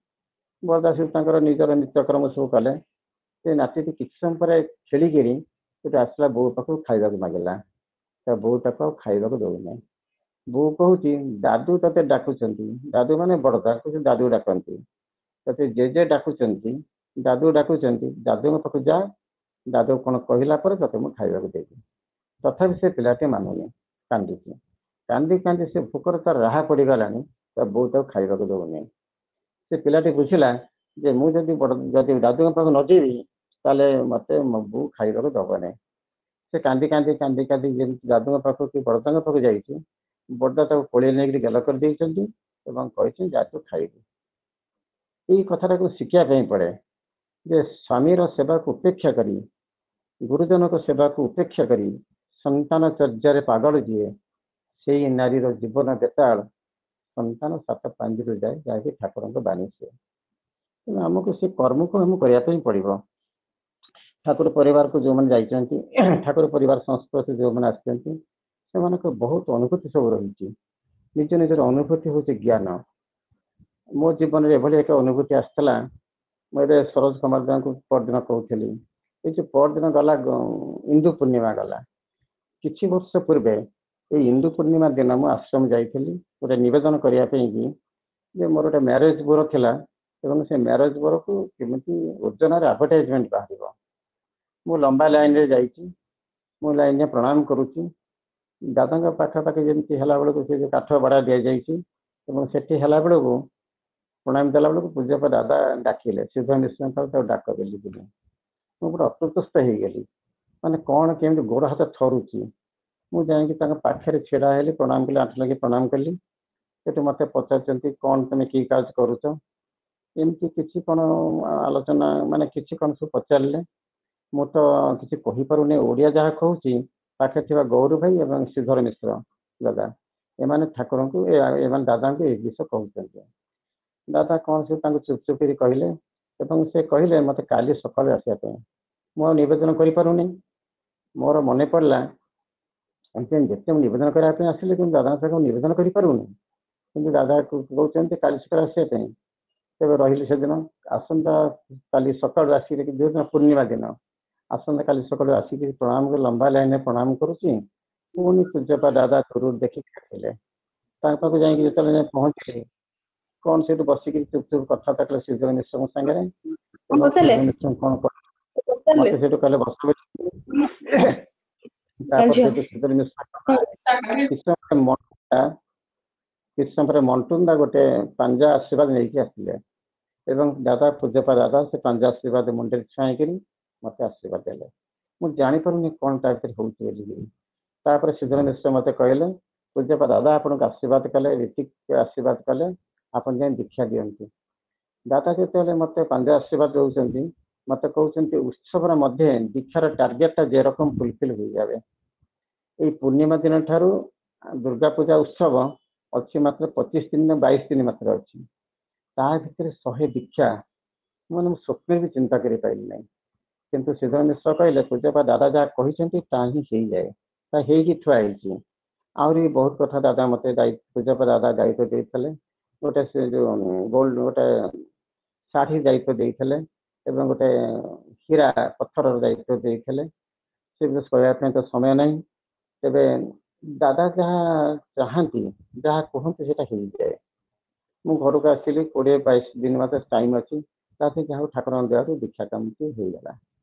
ବଡଦା ସବୁ ତାଙ୍କର ନିଜର ନିତ୍ୟକର୍ମ ସବୁ କଲେ। ସେ ନାତିଟି କିଛି ସମୟ ପରେ ଖେଳିକିରି ସେଠୁ ଆସିଲା, ବୋଉ ପାଖକୁ ଖାଇବାକୁ ମାଗିଲା। ତା ବୋଉ ତାକୁ ଆଉ ଖାଇବାକୁ ଦଉନାହିଁ। ବୋଉ କହୁଛି, ଦାଦୁ ତତେ ଡାକୁଛନ୍ତି। ଦାଦୁ ମାନେ ବଡଦା, କହୁଛନ୍ତି ଦାଦୁ ଡାକନ୍ତି ତତେ, ଜେଜେ ଡାକୁଛନ୍ତି, ଦାଦୁ ଡାକୁଛନ୍ତି, ଦାଦୁଙ୍କ ପାଖକୁ ଯା, ଦାଦୁ କଣ କହିଲା ପରେ ତତେ ମୁଁ ଖାଇବାକୁ ଦେବି। ତଥାପି ସେ ପିଲାଟି ମାନୁନି, କାନ୍ଦୁଛି। କାନ୍ଦି କାନ୍ଦି ସେ ଭୋକରେ ତାର ରାହା ପଡିଗଲାଣି। ତା ବୋଉ ତାକୁ ଖାଇବାକୁ ଦଉନି। ସେ ପିଲାଟି ବୁଝିଲା ଯେ ମୁଁ ଯଦି ବଡ ଯଦି ଦାଦୁଙ୍କ ପାଖକୁ ନ ଯିବି, ତାହେଲେ ମତେ ମୋ ବୋଉ ଖାଇବାକୁ ଦବନି। ସେ କାନ୍ଦି କାନ୍ଦି କାନ୍ଦି କାନ୍ଦି ଯେମିତି ଦାଦୁଙ୍କ ପାଖକୁ କି ବଡଦାଙ୍କ ପାଖକୁ ଯାଇଛି, ବଡଦା ତାକୁ କୋଳେଇ ନେଇକରି ଗେଲ କରିଦେଇଛନ୍ତି ଏବଂ କହିଛନ୍ତି, ଯା ତୁ ଖାଇବୁ। ଏଇ କଥାଟାକୁ ଶିଖିବା ପାଇଁ ପଡେ ଯେ ସ୍ୱାମୀର ସେବାକୁ ଉପେକ୍ଷା କରି, ଗୁରୁଜନଙ୍କ ସେବାକୁ ଉପେକ୍ଷା କରି ସନ୍ତାନ ଚର୍ଯାରେ ପାଗଳ ଯିଏ, ସେଇ ନାରୀର ଜୀବନ ବେତାଳ, ସନ୍ତାନ ସାତ ପାଞ୍ଜିରୁ ଯାଏ, ଯାହାକି ଠାକୁରଙ୍କ ବାଣୀ ସିଏ। ତେଣୁ ଆମକୁ ସେ କର୍ମକୁ ଆମକୁ କରିବା ପାଇଁ ପଡିବ। ଠାକୁର ପରିବାରକୁ ଯୋଉମାନେ ଯାଇଛନ୍ତି, ଠାକୁର ପରିବାର ସଂସ୍ପର୍ଶରେ ଯୋଉମାନେ ଆସିଛନ୍ତି, ସେମାନଙ୍କ ବହୁତ ଅନୁଭୂତି ସବୁ ରହିଛି। ନିଜ ନିଜର ଅନୁଭୂତି ହଉଛି ଜ୍ଞାନ। ମୋ ଜୀବନରେ ଏଭଳି ଏକ ଅନୁଭୂତି ଆସିଥିଲା। ମୁଁ ଏବେ ସରୋଜ କୁମାର ଦାଙ୍କୁ ପରଦିନ କହୁଥିଲି, ଏଇ ଯୋଉ ପରଦିନ ଗଲା ଇନ୍ଦୁ ପୂର୍ଣ୍ଣିମା ଗଲା, କିଛି ବର୍ଷ ପୂର୍ବେ ଏଇ ଇନ୍ଦୁ ପୂର୍ଣ୍ଣିମା ଦିନ ମୁଁ ଆଶ୍ରମ ଯାଇଥିଲି ଗୋଟେ ନିବେଦନ କରିବା ପାଇଁ କି ଯେ ମୋର ଗୋଟେ ମ୍ୟାରେଜ ବ୍ୟୁରୋ ଥିଲା ଏବଂ ସେ ମ୍ୟାରେଜ ବ୍ୟୁରୋକୁ କେମିତି ଓଜନରେ ଆଡଭର୍ଟାଇଜମେଣ୍ଟ ବାହାରିବ। ମୁଁ ଲମ୍ବା ଲାଇନରେ ଯାଇଛି। ମୁଁ ଲାଇନରେ ପ୍ରଣାମ କରୁଛି। ଦାଦାଙ୍କ ପାଖାପାଖି ଯେମିତି ହେଲା ବେଳକୁ, ସେ ଯୋଉ କାଠ ବାଡ଼ା ଦିଆଯାଇଛି ଏବଂ ସେଠି ହେଲା ବେଳକୁ, ପ୍ରଣାମ ଦେଲା ବେଳକୁ ପୂଜ୍ୟପାଦ ଦାଦା ଡାକିଲେ, ସିଦ୍ଧ ମିଶ୍ରଙ୍କ ତାକୁ ଡାକ ବୋଲି। ମୁଁ ପୁରା ଅସ୍ତବ୍ୟସ୍ତ ହେଇଗଲି, ମାନେ କଣ କେମିତି, ଗୋଡ ହାତ ଥରୁଛି। ମୁଁ ଯାଇକି ତାଙ୍କ ପାଖରେ ଛିଡା ହେଲି, ପ୍ରଣାମ କଲି, ଆଣ୍ଠୁ ଲାଗି ପ୍ରଣାମ କଲି। ସେଠୁ ମତେ ପଚାରୁଛନ୍ତି, କଣ ତମେ କି କାର୍ଯ୍ୟ କରୁଛ, ଏମିତି କିଛି କଣ ଆଲୋଚନା, ମାନେ କିଛି କଣ ସବୁ ପଚାରିଲେ। ମୁଁ ତ କିଛି କହିପାରୁନି, ଓଡିଆ ଯାହା କହୁଛି। ପାଖରେ ଥିବା ଗୌର ଭାଇ ଏବଂ ଶ୍ରୀଧର ମିଶ୍ର ଦାଦା, ଏମାନେ ଠାକୁରଙ୍କୁ, ଏମାନେ ଦାଦାଙ୍କୁ ଏଇ ଜିନିଷ କହୁଛନ୍ତି। ଦାଦା କଣ ସେ ତାଙ୍କୁ ଚୁପ୍ ଚୁପ୍ କରି କହିଲେ ଏବଂ ସେ କହିଲେ ମତେ କାଲି ସକାଳୁ ଆସିବା ପାଇଁ। ମୁଁ ଆଉ ନିବେଦନ କରିପାରୁନି। ମୋର ମନେ ପଡିଲା, ଯେତେ ମୁଁ ନିବେଦନ କରିବା ପାଇଁ ଆସିଲି, କିନ୍ତୁ ଦାଦାଙ୍କ ପାଖକୁ ନିବେଦନ କରିପାରୁନି, କିନ୍ତୁ ଦାଦା କହୁଛନ୍ତି କାଲି ସକାଳୁ ଆସିବା ପାଇଁ। ତେବେ ରହିଲି ସେଦିନ। ଆସନ୍ତା କାଲି ସକାଳୁ ଆସିକି, ଯେଉଁଦିନ ପୂର୍ଣ୍ଣିମା ଦିନ, ଆସନ୍ତା କାଲି ସକାଳୁ ଆସିକି ପ୍ରଣାମ କରି ଲମ୍ବା ଲାଇନରେ ପ୍ରଣାମ କରୁଛି। ପୁଣି ପୂଜ୍ୟପାଦ ଦାଦା ଦୂରରୁ ଦେଖିକି ଆସିଲେ। ତାଙ୍କ ପାଖକୁ ଯାଇକି ଯେତେବେଳେ ଯାଇ ପହଞ୍ଚିଲି, କଣ ସେଇଠୁ ବସିକି ଚୁପ୍ ଚୁପ୍ କଥାବାର୍ତ୍ତା କଲେ ଶ୍ରୀଧର ମିଶ୍ରଙ୍କ ସାଙ୍ଗରେ। ମିଶ୍ର କଣ ମତେ ସେଇଠୁ କହିଲେ ବସ। ତାପରେ ସେଠୁ ଶ୍ରୀଧର ମିଶ୍ର କିଛି ସମୟ କିଛି ସମୟ ପରେ ମଣ୍ଟୁନ ଦା ଗୋଟେ ପାଞ୍ଜା ଆଶୀର୍ବାଦ ନେଇକି ଆସିଲେ ଏବଂ ଦାଦା, ପୂଜ୍ୟପାଦ ଦାଦା ସେ ପାଞ୍ଜା ଆଶୀର୍ବାଦ ମୁଣ୍ଡରେ ଛୁଆଁଇକିରି ମତେ ଆଶୀର୍ବାଦ ଦେଲେ। ମୁଁ ଜାଣିପାରୁନି କଣ ତା ଭିତରେ ହଉଛି ବୋଲିକିରି। ତାପରେ ଶ୍ରୀଧର ମିଶ୍ର ମତେ କହିଲେ, ପୂଜ୍ୟପାଦ ଦାଦା ଆପଣଙ୍କୁ ଆଶୀର୍ବାଦ କଲେ, ରୀତିକ ଆଶୀର୍ବାଦ କଲେ, ଆପଣ ଯାଇ ଦୀକ୍ଷା ଦିଅନ୍ତୁ। ଦାଦା ଯେତେବେଳେ ମୋତେ ପାଣ୍ଡେ ଆଶୀର୍ବାଦ ଦେଉଛନ୍ତି, ମୋତେ କହୁଛନ୍ତି ଉତ୍ସବର ମଧ୍ୟ ଦୀକ୍ଷାର ଟାର୍ଗେଟଟା ଯେରକମ ଫୁଲଫିଲ୍ ହୋଇଯାବେ। ଏଇ ପୂର୍ଣ୍ଣିମା ଦିନ ଠାରୁ ଦୁର୍ଗା ପୂଜା ଉତ୍ସବ ଅଛି ମାତ୍ର ପଚିଶ ଦିନ, ବାଇଶ ଦିନ ମାତ୍ର ଅଛି। ତା ଭିତରେ ଶହେ ଦୀକ୍ଷା ମାନେ ମୁଁ ସ୍ୱପ୍ନରେ ବି ଚିନ୍ତା କରିପାରିଲି ନାହିଁ। କିନ୍ତୁ ଶ୍ରୀଧର ମିଶ୍ର କହିଲେ, ପୂଜ୍ୟପାଦ ଦାଦା ଯାହା କହିଛନ୍ତି ତାହା ହିଁ ହେଇଯାଏ, ତା ହେଇକି ଥୁଆ ହେଇଛି। ଆହୁରି ବହୁତ କଥା ଦାଦା ମତେ ପୂଜ୍ୟପାଦ ଦାଦା ଦାୟିତ୍ୱ ଦେଇଥିଲେ। ଗୋଟେ ସେ ଯୋଉ ଗୋଲ୍ଡ ଗୋଟେ ଶାଢ଼ୀ ଦାୟିତ୍ୱ ଦେଇଥିଲେ ଏବଂ ଗୋଟେ ହୀରା ପଥରର ଦାୟିତ୍ୱ ଦେଇଥିଲେ। ସେ ବିଷୟ କହିବା ପାଇଁ ତ ସମୟ ନାହିଁ। ତେବେ ଦାଦା ଯାହା ଚାହାନ୍ତି, ଯାହା କୁହନ୍ତି, ସେଇଟା ହେଇଯାଏ। ମୁଁ ଘରକୁ ଆସିଲି, କୋଡ଼ିଏ ବାଇଶ ଦିନ ମାତ୍ର ଟାଇମ୍ ଅଛି। ତାପରେ ଯାହା ହଉ ଠାକୁରଙ୍କ ଦୟାରୁ ଦୀକ୍ଷା କାମଟି ହେଇଗଲା।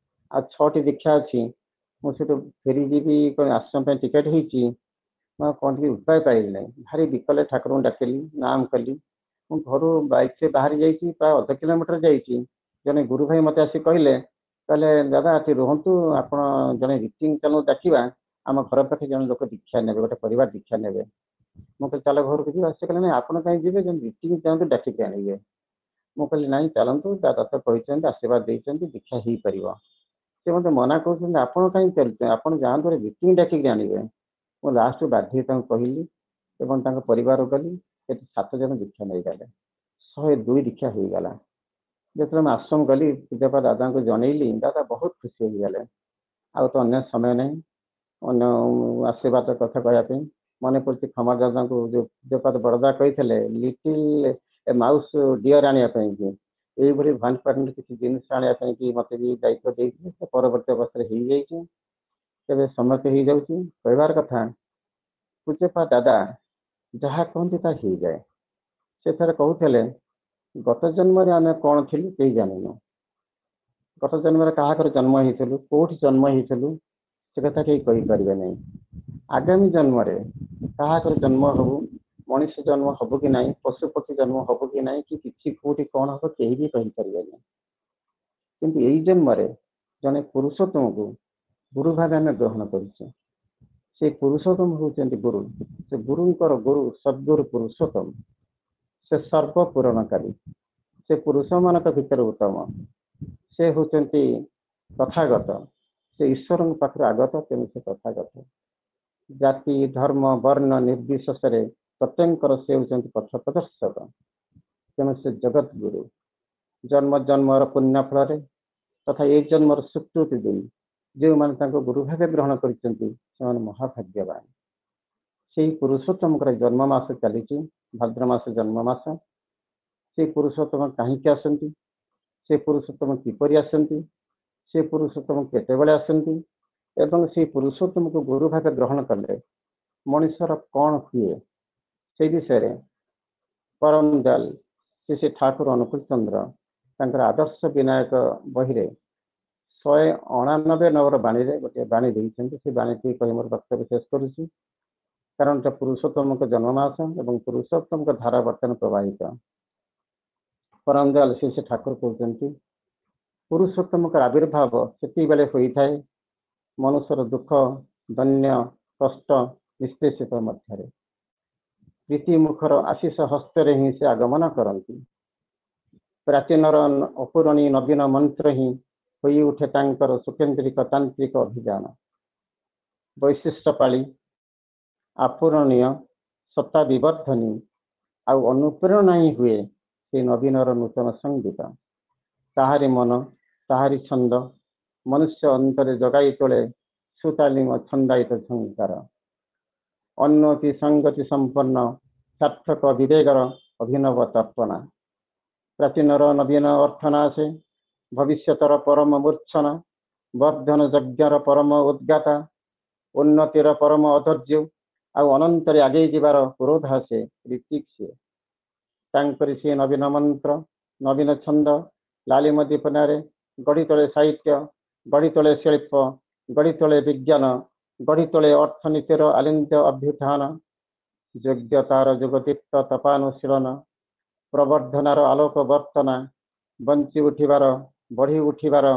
ଆଉ ଛଅଟି ଦୀକ୍ଷା ଅଛି। ମୁଁ ସେଠୁ ଫେରିଯିବି, ଆଶ୍ରମ ପାଇଁ ଟିକେଟ୍ ହେଇଛି। ମୁଁ ଆଉ କଣ ଟିକେ ଉପାୟ ପାଇଲି ନାହିଁ। ଭାରି ବିକଲେ ଠାକୁରଙ୍କୁ ଡାକିଲି, ନାମ କଲି। ମୁଁ ଘରୁ ବାଇକ୍ରେ ବାହାରି ଯାଇଛି, ପ୍ରାୟ ଅଧ କିଲୋମିଟର ଯାଇଛି, ଜଣେ ଗୁରୁ ଭାଇ ମୋତେ ଆସି କହିଲେ, କହିଲେ, ଦାଦା ଏଠି ରୁହନ୍ତୁ ଆପଣ, ଜଣେ ରିତିଂ ଚାଲୁ ଡାକିବା, ଆମ ଘର ପାଖେ ଜଣେ ଲୋକ ଦୀକ୍ଷା ନେବେ, ଗୋଟେ ପରିବାର ଦୀକ୍ଷା ନେବେ। ମୁଁ କହିଲି, ଚାଲ ଘରକୁ ଯିବା। ସେ କହିଲେ, ନାଇଁ, ଆପଣ କାହିଁ ଯିବେ? ଜଣେ ରିତିଂ ଚାଲନ୍ତୁ, ଡାକିକି ଆଣିବେ। ମୁଁ କହିଲି, ନାଇଁ ଚାଲନ୍ତୁ, ଦାଦା ତ କହିଛନ୍ତି, ଆଶୀର୍ବାଦ ଦେଇଛନ୍ତି, ଦୀକ୍ଷା ହେଇପାରିବ। ସେ ମୋତେ ମନା କରୁଛନ୍ତି, ଆପଣ କାହିଁ ଚାଲୁଛନ୍ତି, ଆପଣ ଯାଆନ୍ତୁ, ରିତିଂ ଡାକିକି ଆଣିବେ। ମୁଁ ଲାଷ୍ଟକୁ ବାଧ୍ୟ ହେଇ ତାଙ୍କୁ କହିଲି ଏବଂ ତାଙ୍କ ପରିବାରକୁ ଗଲି। ସେଠି ସାତ ଜଣ ଦୀକ୍ଷା ନେଇଗଲେ, ଶହେ ଦୁଇ ଦୀକ୍ଷା ହେଇଗଲା। ଯେତେବେଳେ ମୁଁ ଆଶ୍ରମ ଗଲି, ପୂଜ୍ୟପାଦ ଦାଦାଙ୍କୁ ଜଣେଇଲି, ଦାଦା ବହୁତ ଖୁସି ହେଇଗଲେ। ଆଉ ତ ଅନ୍ୟ ସମୟ ନାହିଁ ଅନ୍ୟ ଆଶୀର୍ବାଦ କଥା କହିବା ପାଇଁ। ମନେ ପଡୁଛି ଖମାର ଦାଦାଙ୍କୁ ଯୋଉ ପୂଜ୍ୟପାଦ ବରଦା କହିଥିଲେ ଲିଟିଲ ମାଉସ ଡିଅର ଆଣିବା ପାଇଁ କି, ଏଇଭଳି ଭାନ କିଛି ଜିନିଷ ଆଣିବା ପାଇଁ କି ମତେ ବି ଦାୟିତ୍ୱ ଦେଇଥିଲେ। ସେ ପରବର୍ତ୍ତୀ ଅବସ୍ଥାରେ ହେଇଯାଇଛି। ତେବେ ସମୟ ହେଇଯାଉଛି। କହିବାର କଥା, ପୂଜ୍ୟପାଦ ଦାଦା ଯାହା କୁହନ୍ତି ତାହା ହେଇଯାଏ। ସେ ଥରେ କହୁଥିଲେ, ଗତ ଜନ୍ମରେ ଆମେ କଣ ଥିଲୁ କେହି ଜାଣିନୁ। ଗତ ଜନ୍ମରେ କାହାଘରେ ଜନ୍ମ ହେଇଥିଲୁ, କୋଉଠି ଜନ୍ମ ହେଇଥିଲୁ, ସେ କଥା କେହି କହିପାରିବେ ନାହିଁ। ଆଗାମୀ ଜନ୍ମରେ କାହାଘରେ ଜନ୍ମ ହବୁ, ମଣିଷ ଜନ୍ମ ହବୁ କି ନାହିଁ, ପଶୁ ପକ୍ଷୀ ଜନ୍ମ ହବୁ କି ନାହିଁ, କି କିଛି କୋଉଠି କଣ ହବ, କେହି ବି କହିପାରିବେନି। କିନ୍ତୁ ଏଇ ଜନ୍ମରେ ଜଣେ ପୁରୁଷୋତ୍ତମକୁ ଗୁରୁ ଭାବେ ଆମେ ଗ୍ରହଣ କରିଛେ। ସେ ପୁରୁଷୋତ୍ତମ ହଉଛନ୍ତି ଗୁରୁ। ସେ ଗୁରୁଙ୍କର ଗୁରୁ ସଦ୍ଗୁରୁ ପୁରୁଷୋତ୍ତମ। ସେ ସର୍ବପୂରଣକାରୀ। ସେ ପୁରୁଷମାନଙ୍କ ଭିତରେ ଉତ୍ତମ। ସେ ହଉଛନ୍ତି ତଥାଗତ। ସେ ଈଶ୍ୱରଙ୍କ ପାଖରୁ ଆଗତ, ତେଣୁ ସେ ତଥାଗତ। ଜାତି ଧର୍ମ ବର୍ଣ୍ଣ ନିର୍ବିଶେଷରେ ପ୍ରତ୍ୟେକଙ୍କର ସେ ହେଉଛନ୍ତି ପଥ ପ୍ରଦର୍ଶକ, ତେଣୁ ସେ ଜଗତ ଗୁରୁ। ଜନ୍ମ ଜନ୍ମର ପୁଣ୍ୟ ଫଳରେ ତଥା ଏଇ ଜନ୍ମର ସ୍ୱୀକୃତି ଦେଇ ଯେଉଁମାନେ ତାଙ୍କୁ ଗୁରୁ ଭାବେ ଗ୍ରହଣ କରିଛନ୍ତି, ସେମାନେ ମହାଭାଗ୍ୟବାନ। ସେଇ ପୁରୁଷୋତ୍ତମଙ୍କର ଜନ୍ମ ମାସ ଚାଲିଛି, ଭାଦ୍ର ମାସ ଜନ୍ମ ମାସ। ସେ ପୁରୁଷୋତ୍ତମ କାହିଁକି ଆସନ୍ତି, ସେ ପୁରୁଷୋତ୍ତମ କିପରି ଆସନ୍ତି, ସେ ପୁରୁଷୋତ୍ତମ କେତେବେଳେ ଆସନ୍ତି ଏବଂ ସେଇ ପୁରୁଷୋତ୍ତମକୁ ଗୁରୁ ଭାବେ ଗ୍ରହଣ କଲେ ମଣିଷର କଣ ହୁଏ, ସେଇ ବିଷୟରେ ପରମ ଦୟାଲ ଶ୍ରୀ ଶ୍ରୀ ଠାକୁର ଅନୁକୂଳ ଚନ୍ଦ୍ର ତାଙ୍କର ଆଦର୍ଶ ବିନାୟକ ବହିରେ ଶହେ ଅଣାନବେ ନମ୍ବର ବାଣୀରେ ଗୋଟିଏ ବାଣୀ ଦେଇଛନ୍ତି। ସେ ବାଣୀଟି କହି ମୋର ବକ୍ତବ୍ୟ ଶେଷ କରୁଛି, କାରଣ ଏଟା ପୁରୁଷୋତ୍ତମଙ୍କ ଜନ୍ମ ମାସ ଏବଂ ପୁରୁଷୋତ୍ତମଙ୍କ ଧାରା ବର୍ତ୍ତମାନ ପ୍ରବାହିତ। ପରମ ଦୟାଲ ଶ୍ରୀ ଶ୍ରୀ ଠାକୁର କହୁଛନ୍ତି, ପୁରୁଷୋତ୍ତମଙ୍କର ଆବିର୍ଭାବ ସେତିକିବେଳେ ହୋଇଥାଏ ମନୁଷ୍ୟର ଦୁଃଖ ଦୈନ୍ୟ କଷ୍ଟ ନିଷ୍ପେଷିତ ମଧ୍ୟରେ। ପ୍ରୀତି ମୁଖର ଆଶିଷ ହସ୍ତରେ ହିଁ ସେ ଆଗମନ କରନ୍ତି। ପ୍ରାଚୀନର ଅପୂରଣୀ ନବୀନ ମନ୍ତ୍ର ହିଁ ହୋଇ ଉଠେ ତାଙ୍କର ସୁକେନ୍ଦ୍ରିକ ତାନ୍ତ୍ରିକ ଅଭିଯାନ। ବୈଶିଷ୍ଟ୍ୟ ପାଳି ଆପୂରଣୀୟ ସତ୍ତା ବିବର୍ଦ୍ଧନୀ ଆଉ ଅନୁପ୍ରେରଣା ହିଁ ହୁଏ ସେ ନବୀନର ନୂତନ ସଙ୍ଗୀତ। ତାହାରି ମନ, ତାହାରି ଛନ୍ଦ ମନୁଷ୍ୟ ଅନ୍ତରେ ଜଗାଇ ତୋଳେ ସୁତାଲିମ ଛନ୍ଦାୟିତ ଝଙ୍କାର। ଉନ୍ନତି ସଙ୍ଗତି ସମ୍ପନ୍ନ ସାର୍ଥକ ବିବେକର ଅଭିନବ ତର୍ପଣା। ପ୍ରାଚୀନର ନବୀନ ଅର୍ଥନା ଆସେ, ଭବିଷ୍ୟତର ପରମ ମୂର୍ଚ୍ଛନା, ବର୍ଦ୍ଧନ ଯଜ୍ଞର ପରମ ଉଦ୍ଗାତା, ଉନ୍ନତିର ପରମ ଅଧୈର୍ଯ୍ୟ ଆଉ ଅନନ୍ତରେ ଆଗେଇ ଯିବାର ପୁରୋଧା ସେ ଋତ୍ୱିକ୍ ସିଏ। ତାଙ୍କରି ସିଏ ନବୀନ ମନ୍ତ୍ର, ନବୀନ ଛନ୍ଦ ଲାଲିମ ଦୀପନାରେ ଗଢ଼ି ତୋଳେ ସାହିତ୍ୟ, ଗଢ଼ି ତୋଳେ ଶିଳ୍ପ, ଗଢ଼ି ତୋଳେ ବିଜ୍ଞାନ, ଗଢ଼ି ତୋଳେ ଅର୍ଥନୀତିର ଆଲିନ୍ଦ୍ୟ ଅଭ୍ୟୁତ୍ଥାନ, ଯୋଗ୍ୟତାର ଯୁଗଦୀପ୍ତ ତପାନୁଶୀଳନ, ପ୍ରବର୍ଦ୍ଧନାର ଆଲୋକ ବର୍ତ୍ତନା, ବଞ୍ଚି ଉଠିବାର, ବଢ଼ି ଉଠିବାର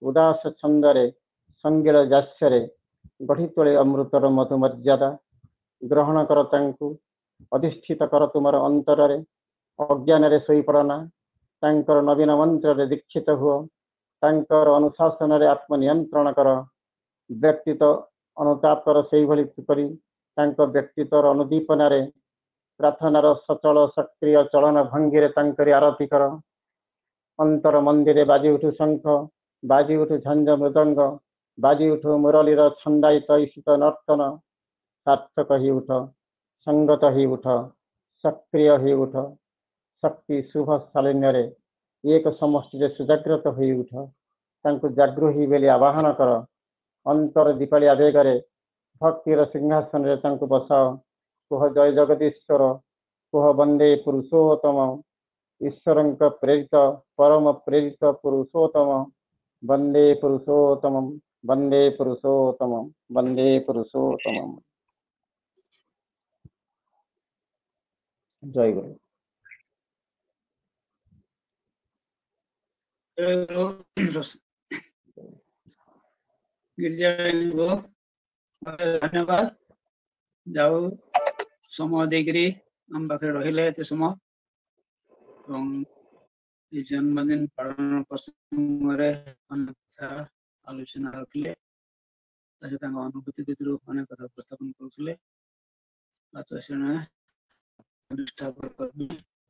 ଉଦାସ ଛନ୍ଦରେ ସଙ୍ଗୀଳ ଜାସ୍ୟରେ ଗଢ଼ି ତୋଳେ ଅମୃତର ମଧୁମର୍ଯ୍ୟାଦା। ଗ୍ରହଣ କର ତାଙ୍କୁ, ଅଧିଷ୍ଠିତ କର ତୁମର ଅନ୍ତରରେ। ଅଜ୍ଞାନରେ ଶୋଇପଡ଼ନା। ତାଙ୍କର ନବୀନ ମନ୍ତ୍ରରେ ଦୀକ୍ଷିତ ହୁଅ। ତାଙ୍କର ଅନୁଶାସନରେ ଆତ୍ମନିୟନ୍ତ୍ରଣ କର। ବ୍ୟକ୍ତିତ୍ୱ ଅନୁତାପ କର ସେଇଭଳି କରି ତାଙ୍କ ବ୍ୟକ୍ତିତ୍ୱର ଅନୁଦୀପନାରେ ପ୍ରାର୍ଥନାର ସଚଳ ସକ୍ରିୟ ଚଳନ ଭଙ୍ଗୀରେ ତାଙ୍କରି ଆରତି କର। ଅନ୍ତର ମନ୍ଦିରେ ବାଜି ଉଠୁ ଶଙ୍ଖ, ବାଜି ଉଠୁ ଝାଞ୍ଜ ମୃଦଙ୍ଗ, ବାଜି ଉଠୁ ମୁରଲୀର ଛନ୍ଦାୟିତ ଈଷିତ ନର୍ତ୍ତନ। ସାର୍ଥକ ହେଇ ଉଠ, ସଙ୍ଗତ ହେଇ ଉଠ, ସକ୍ରିୟ ହେଇ ଉଠ। ଶକ୍ତି ଶୁଭ ଶାଳିନ୍ୟରେ ଏକ ସମଷ୍ଟିରେ ସୁଜାଗ୍ରତ ହୋଇ ଉଠ। ତାଙ୍କୁ ଜାଗୃହୀ ବୋଲି ଆବାହନ କର। ଅନ୍ତର ଦୀପାଳି ଆବେଗରେ ଭକ୍ତିର ସିଂହାସନରେ ତାଙ୍କୁ ବସାଅ। କୁହ ଜୟ ଜଗଦୀଶ୍ୱର, କୁହ ବନ୍ଦେ ପୁରୁଷୋତ୍ତମ। ଈଶ୍ୱରଙ୍କ ପ୍ରେରିତ, ପରମ ପ୍ରେରିତ ପୁରୁଷୋତ୍ତମ। ବନ୍ଦେ ପୁରୁଷୋତ୍ତମ, ବନ୍ଦେ ପୁରୁଷୋତ୍ତମ, ବନ୍ଦେ ପୁରୁଷୋତ୍ତମ। ଜୟ ଗୁରୁ। ଗିରିଜା ଧନ୍ୟବାଦ। ଯାଉ ସମୟ ଦେଇକିରି ଆମ ପାଖରେ ରହିଲେ ଏତେ ସମୟ ଏବଂ ଏ ଜନ୍ମଦିନ ପାଳନ ପ୍ରସଙ୍ଗରେ ଅନେକ କଥା ଆଲୋଚନା ରଖିଲେ। ତା ସହିତ ତାଙ୍କ ଅନୁଭୂତି ଭିତରୁ ଅନେକ କଥା ଉପସ୍ଥାପନ କରୁଥିଲେ।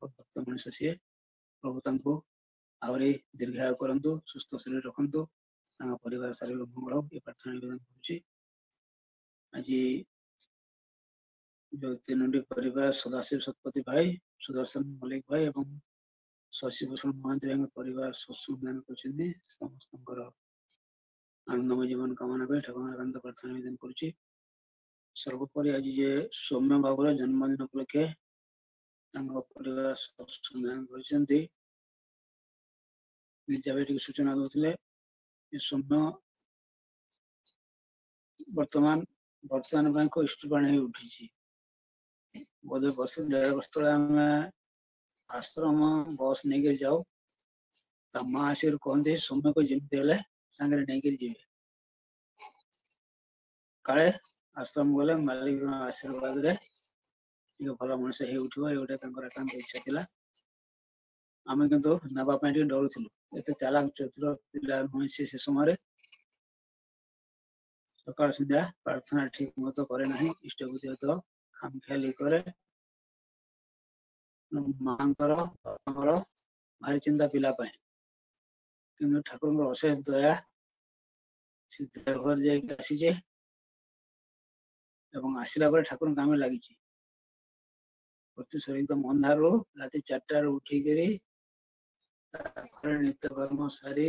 ଭକ୍ତ ମଣିଷ ସିଏ। ପ୍ରଭୁ ତାଙ୍କୁ ଆହୁରି ଦୀର୍ଘାୟୁ କରନ୍ତୁ, ସୁସ୍ଥ ଶରୀର ରଖନ୍ତୁ, ତାଙ୍କ ପରିବାର ଶାରୀରିକ ମଙ୍ଗଳ ହଉ, ଏ ପ୍ରାର୍ଥନା ନିବେଦନ କରୁଛି। ଆଜି ଯୋଉ ତିନୋଟି ପରିବାର, ସଦାଶିବ ଶତପଥୀ ଭାଇ, ସୁଦର୍ଶନ ମଲ୍ଲିକ ଭାଇ ଏବଂ ଶଶିଭୂଷଣ ମହାନ୍ତି ଭାଇଙ୍କ ପରିବାର ସତ୍ସଙ୍ଗ ଦାନ କରିଛନ୍ତି, ସମସ୍ତଙ୍କର ଆନନ୍ଦମୟ ଜୀବନ କାମନା କରି ଠାକୁରଙ୍କ ଏକାନ୍ତ ପ୍ରାର୍ଥନା ନିବେଦନ କରୁଛି। ସର୍ବୋପରି ଆଜି ଯେ ସୌମ୍ୟ ବାବୁର ଜନ୍ମଦିନ ଉପଲକ୍ଷେ ତାଙ୍କ ପରିବାର ସତ୍ସଙ୍ଗ ଦାନ କରିଛନ୍ତି, ଗିରିଜା ଭାଇ ଟିକେ ସୂଚନା ଦଉଥିଲେ ଯେ ସୌମ୍ୟ ବର୍ତ୍ତମାନ ବର୍ତ୍ତମାନ ପାଇଁ ଏକ ଇଷ୍ଟପ୍ରାଣ ହେଇ ଉଠିଛି। ବୋଧେ ବର୍ଷ ଦେଢ ବର୍ଷ ତଳେ ଆମେ ଆଶ୍ରମ ବସ୍ ନେଇକରି ଯାଉ, ତା ମା ଆସିକରି କହନ୍ତି ସୌମ୍ୟକୁ ଯେମିତି ହେଲେ ସାଙ୍ଗରେ ନେଇକରି ଯିବେ, କାଳେ ଆଶ୍ରମ ଗଲେ ମାଲିକଙ୍କ ଆଶୀର୍ବାଦରେ ଟିକେ ଭଲ ମଣିଷ ହେଇ ଉଠିବ, ଏ ଗୋଟେ ତାଙ୍କର ଏକାନ୍ତ ଇଚ୍ଛା ଥିଲା। ଆମେ କିନ୍ତୁ ନେବା ପାଇଁ ଟିକେ ଡରୁଥିଲୁ, ଏତେ ଚାଲାକ ଚତୁର ପିଲା ନୁହେଁ ସେ। ସେ ସମୟରେ ସକାଳ ସନ୍ଧ୍ୟା ପ୍ରାର୍ଥନା ଠିକ ମତ କରେ ନାହିଁ, ଇଷ୍ଟବୁଦ୍ଧି ତ ଖାମଖିଆଲି କରେ। ମାଙ୍କର ବାପାଙ୍କର ଭାରି ଚିନ୍ତା ପିଲା ପାଇଁ, କିନ୍ତୁ ଠାକୁରଙ୍କର ଅଶେଷ ଦୟା, ସେ ଦେହଘର ଯାଇକି ଆସିଛେ ଏବଂ ଆସିଲା ପରେ ଠାକୁରଙ୍କ କାମରେ ଲାଗିଛି। ପ୍ରତ୍ୟୁଷରେ ଏକଦମ ଅନ୍ଧାରରୁ ରାତି ଚାରିଟାରୁ ଉଠିକରି ତାପରେ ନିତ୍ୟକର୍ମ ସାରି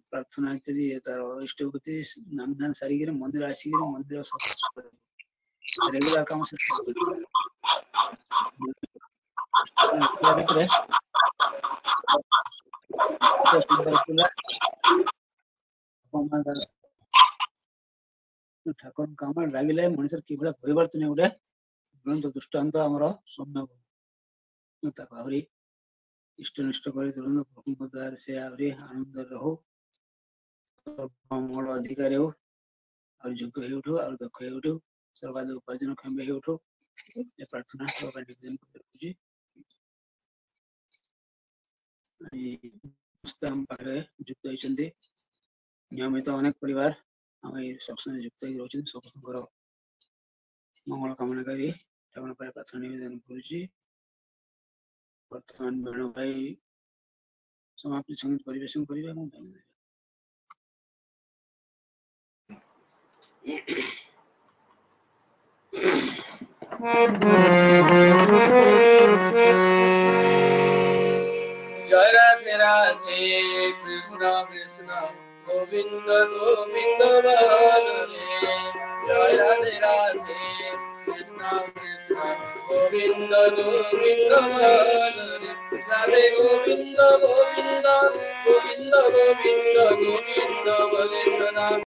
ପ୍ରାର୍ଥନା ଇତ୍ୟାଦି ତାର ଇଷ୍ଟବୁଦ୍ଧି ନାମ ଧ୍ୟାନ ସାରିକିରି ମନ୍ଦିର ଆସିକିରି ମନ୍ଦିର ରେଗୁଲାର କାମ ସେ ଭିତରେ ସୁନ୍ଦର ପିଲା। ଠାକୁରଙ୍କ କାମରେ ଲାଗିଲେ ମଣିଷର କିଭଳିଆ ପରିବର୍ତ୍ତନ, ଗୋଟେ ଜ୍ୱଳନ୍ତ ଦୃଷ୍ଟାନ୍ତ ଆମର ସୌମ୍ୟ। ତାକୁ ଆହୁରି ଇଷ୍ଟ ନିଷ୍ଟ କରି ତୁରନ୍ତ ପ୍ରଭୁଙ୍କ ଦୟାରେ ସେ ଆହୁରି ଆନନ୍ଦରେ ରହୁ, ମଙ୍ଗଳ ଅଧିକାରୀ ହଉ, ଆହୁରି ଯୋଗ୍ୟ ହେଇଉଠୁ, ଆହୁରି ଦକ୍ଷ ହେଇଉଠୁ, ସର୍ବାଧିକ ଉପାର୍ଜନ କ୍ଷମ ହେଇଉଠୁ, ଏ ପ୍ରାର୍ଥନା ସଭା ପାଇଁ ନିବେଦନ କରି ରଖୁଛି। ସମସ୍ତେ ଆମ ପାଖରେ ଯୁକ୍ତ ହେଇଛନ୍ତି, ନିୟମିତ ଅନେକ ପରିବାର ଆମ ଏଇ ସତ୍ସଙ୍ଗରେ ଯୁକ୍ତ ହେଇକି ରହୁଛନ୍ତି। ସମସ୍ତଙ୍କର ମଙ୍ଗଳ କାମନା କରି ଠାକୁରଙ୍କ ପାଖରେ ପ୍ରାର୍ଥନା ନିବେଦନ କରୁଛି। ବର୍ତ୍ତମାନ ବେଣୁ ଭାଇ ସମାପ୍ତି ସଙ୍ଗୀତ ପରିବେଷଣ କରିବେ ଏବଂ ଧନ୍ୟବାଦ। ଜୟ ରାଧେ ରାଧେ କୃଷ୍ଣ କୃଷ୍ଣ ଗୋବିନ୍ଦ ଗୋବିନ୍ଦ ବଲରେ, ଜୟ ରାଧେ ରାଧେ କୃଷ୍ଣ କୃଷ୍ଣ ଗୋବିନ୍ଦ ଗୋବିନ୍ଦ ବଲରେ, ରାଧେ ଗୋବିନ୍ଦ ଗୋବିନ୍ଦ ଗୋବିନ୍ଦ ଗୋବିନ୍ଦ ଗୋବିନ୍ଦ ବଲେ ସଦା।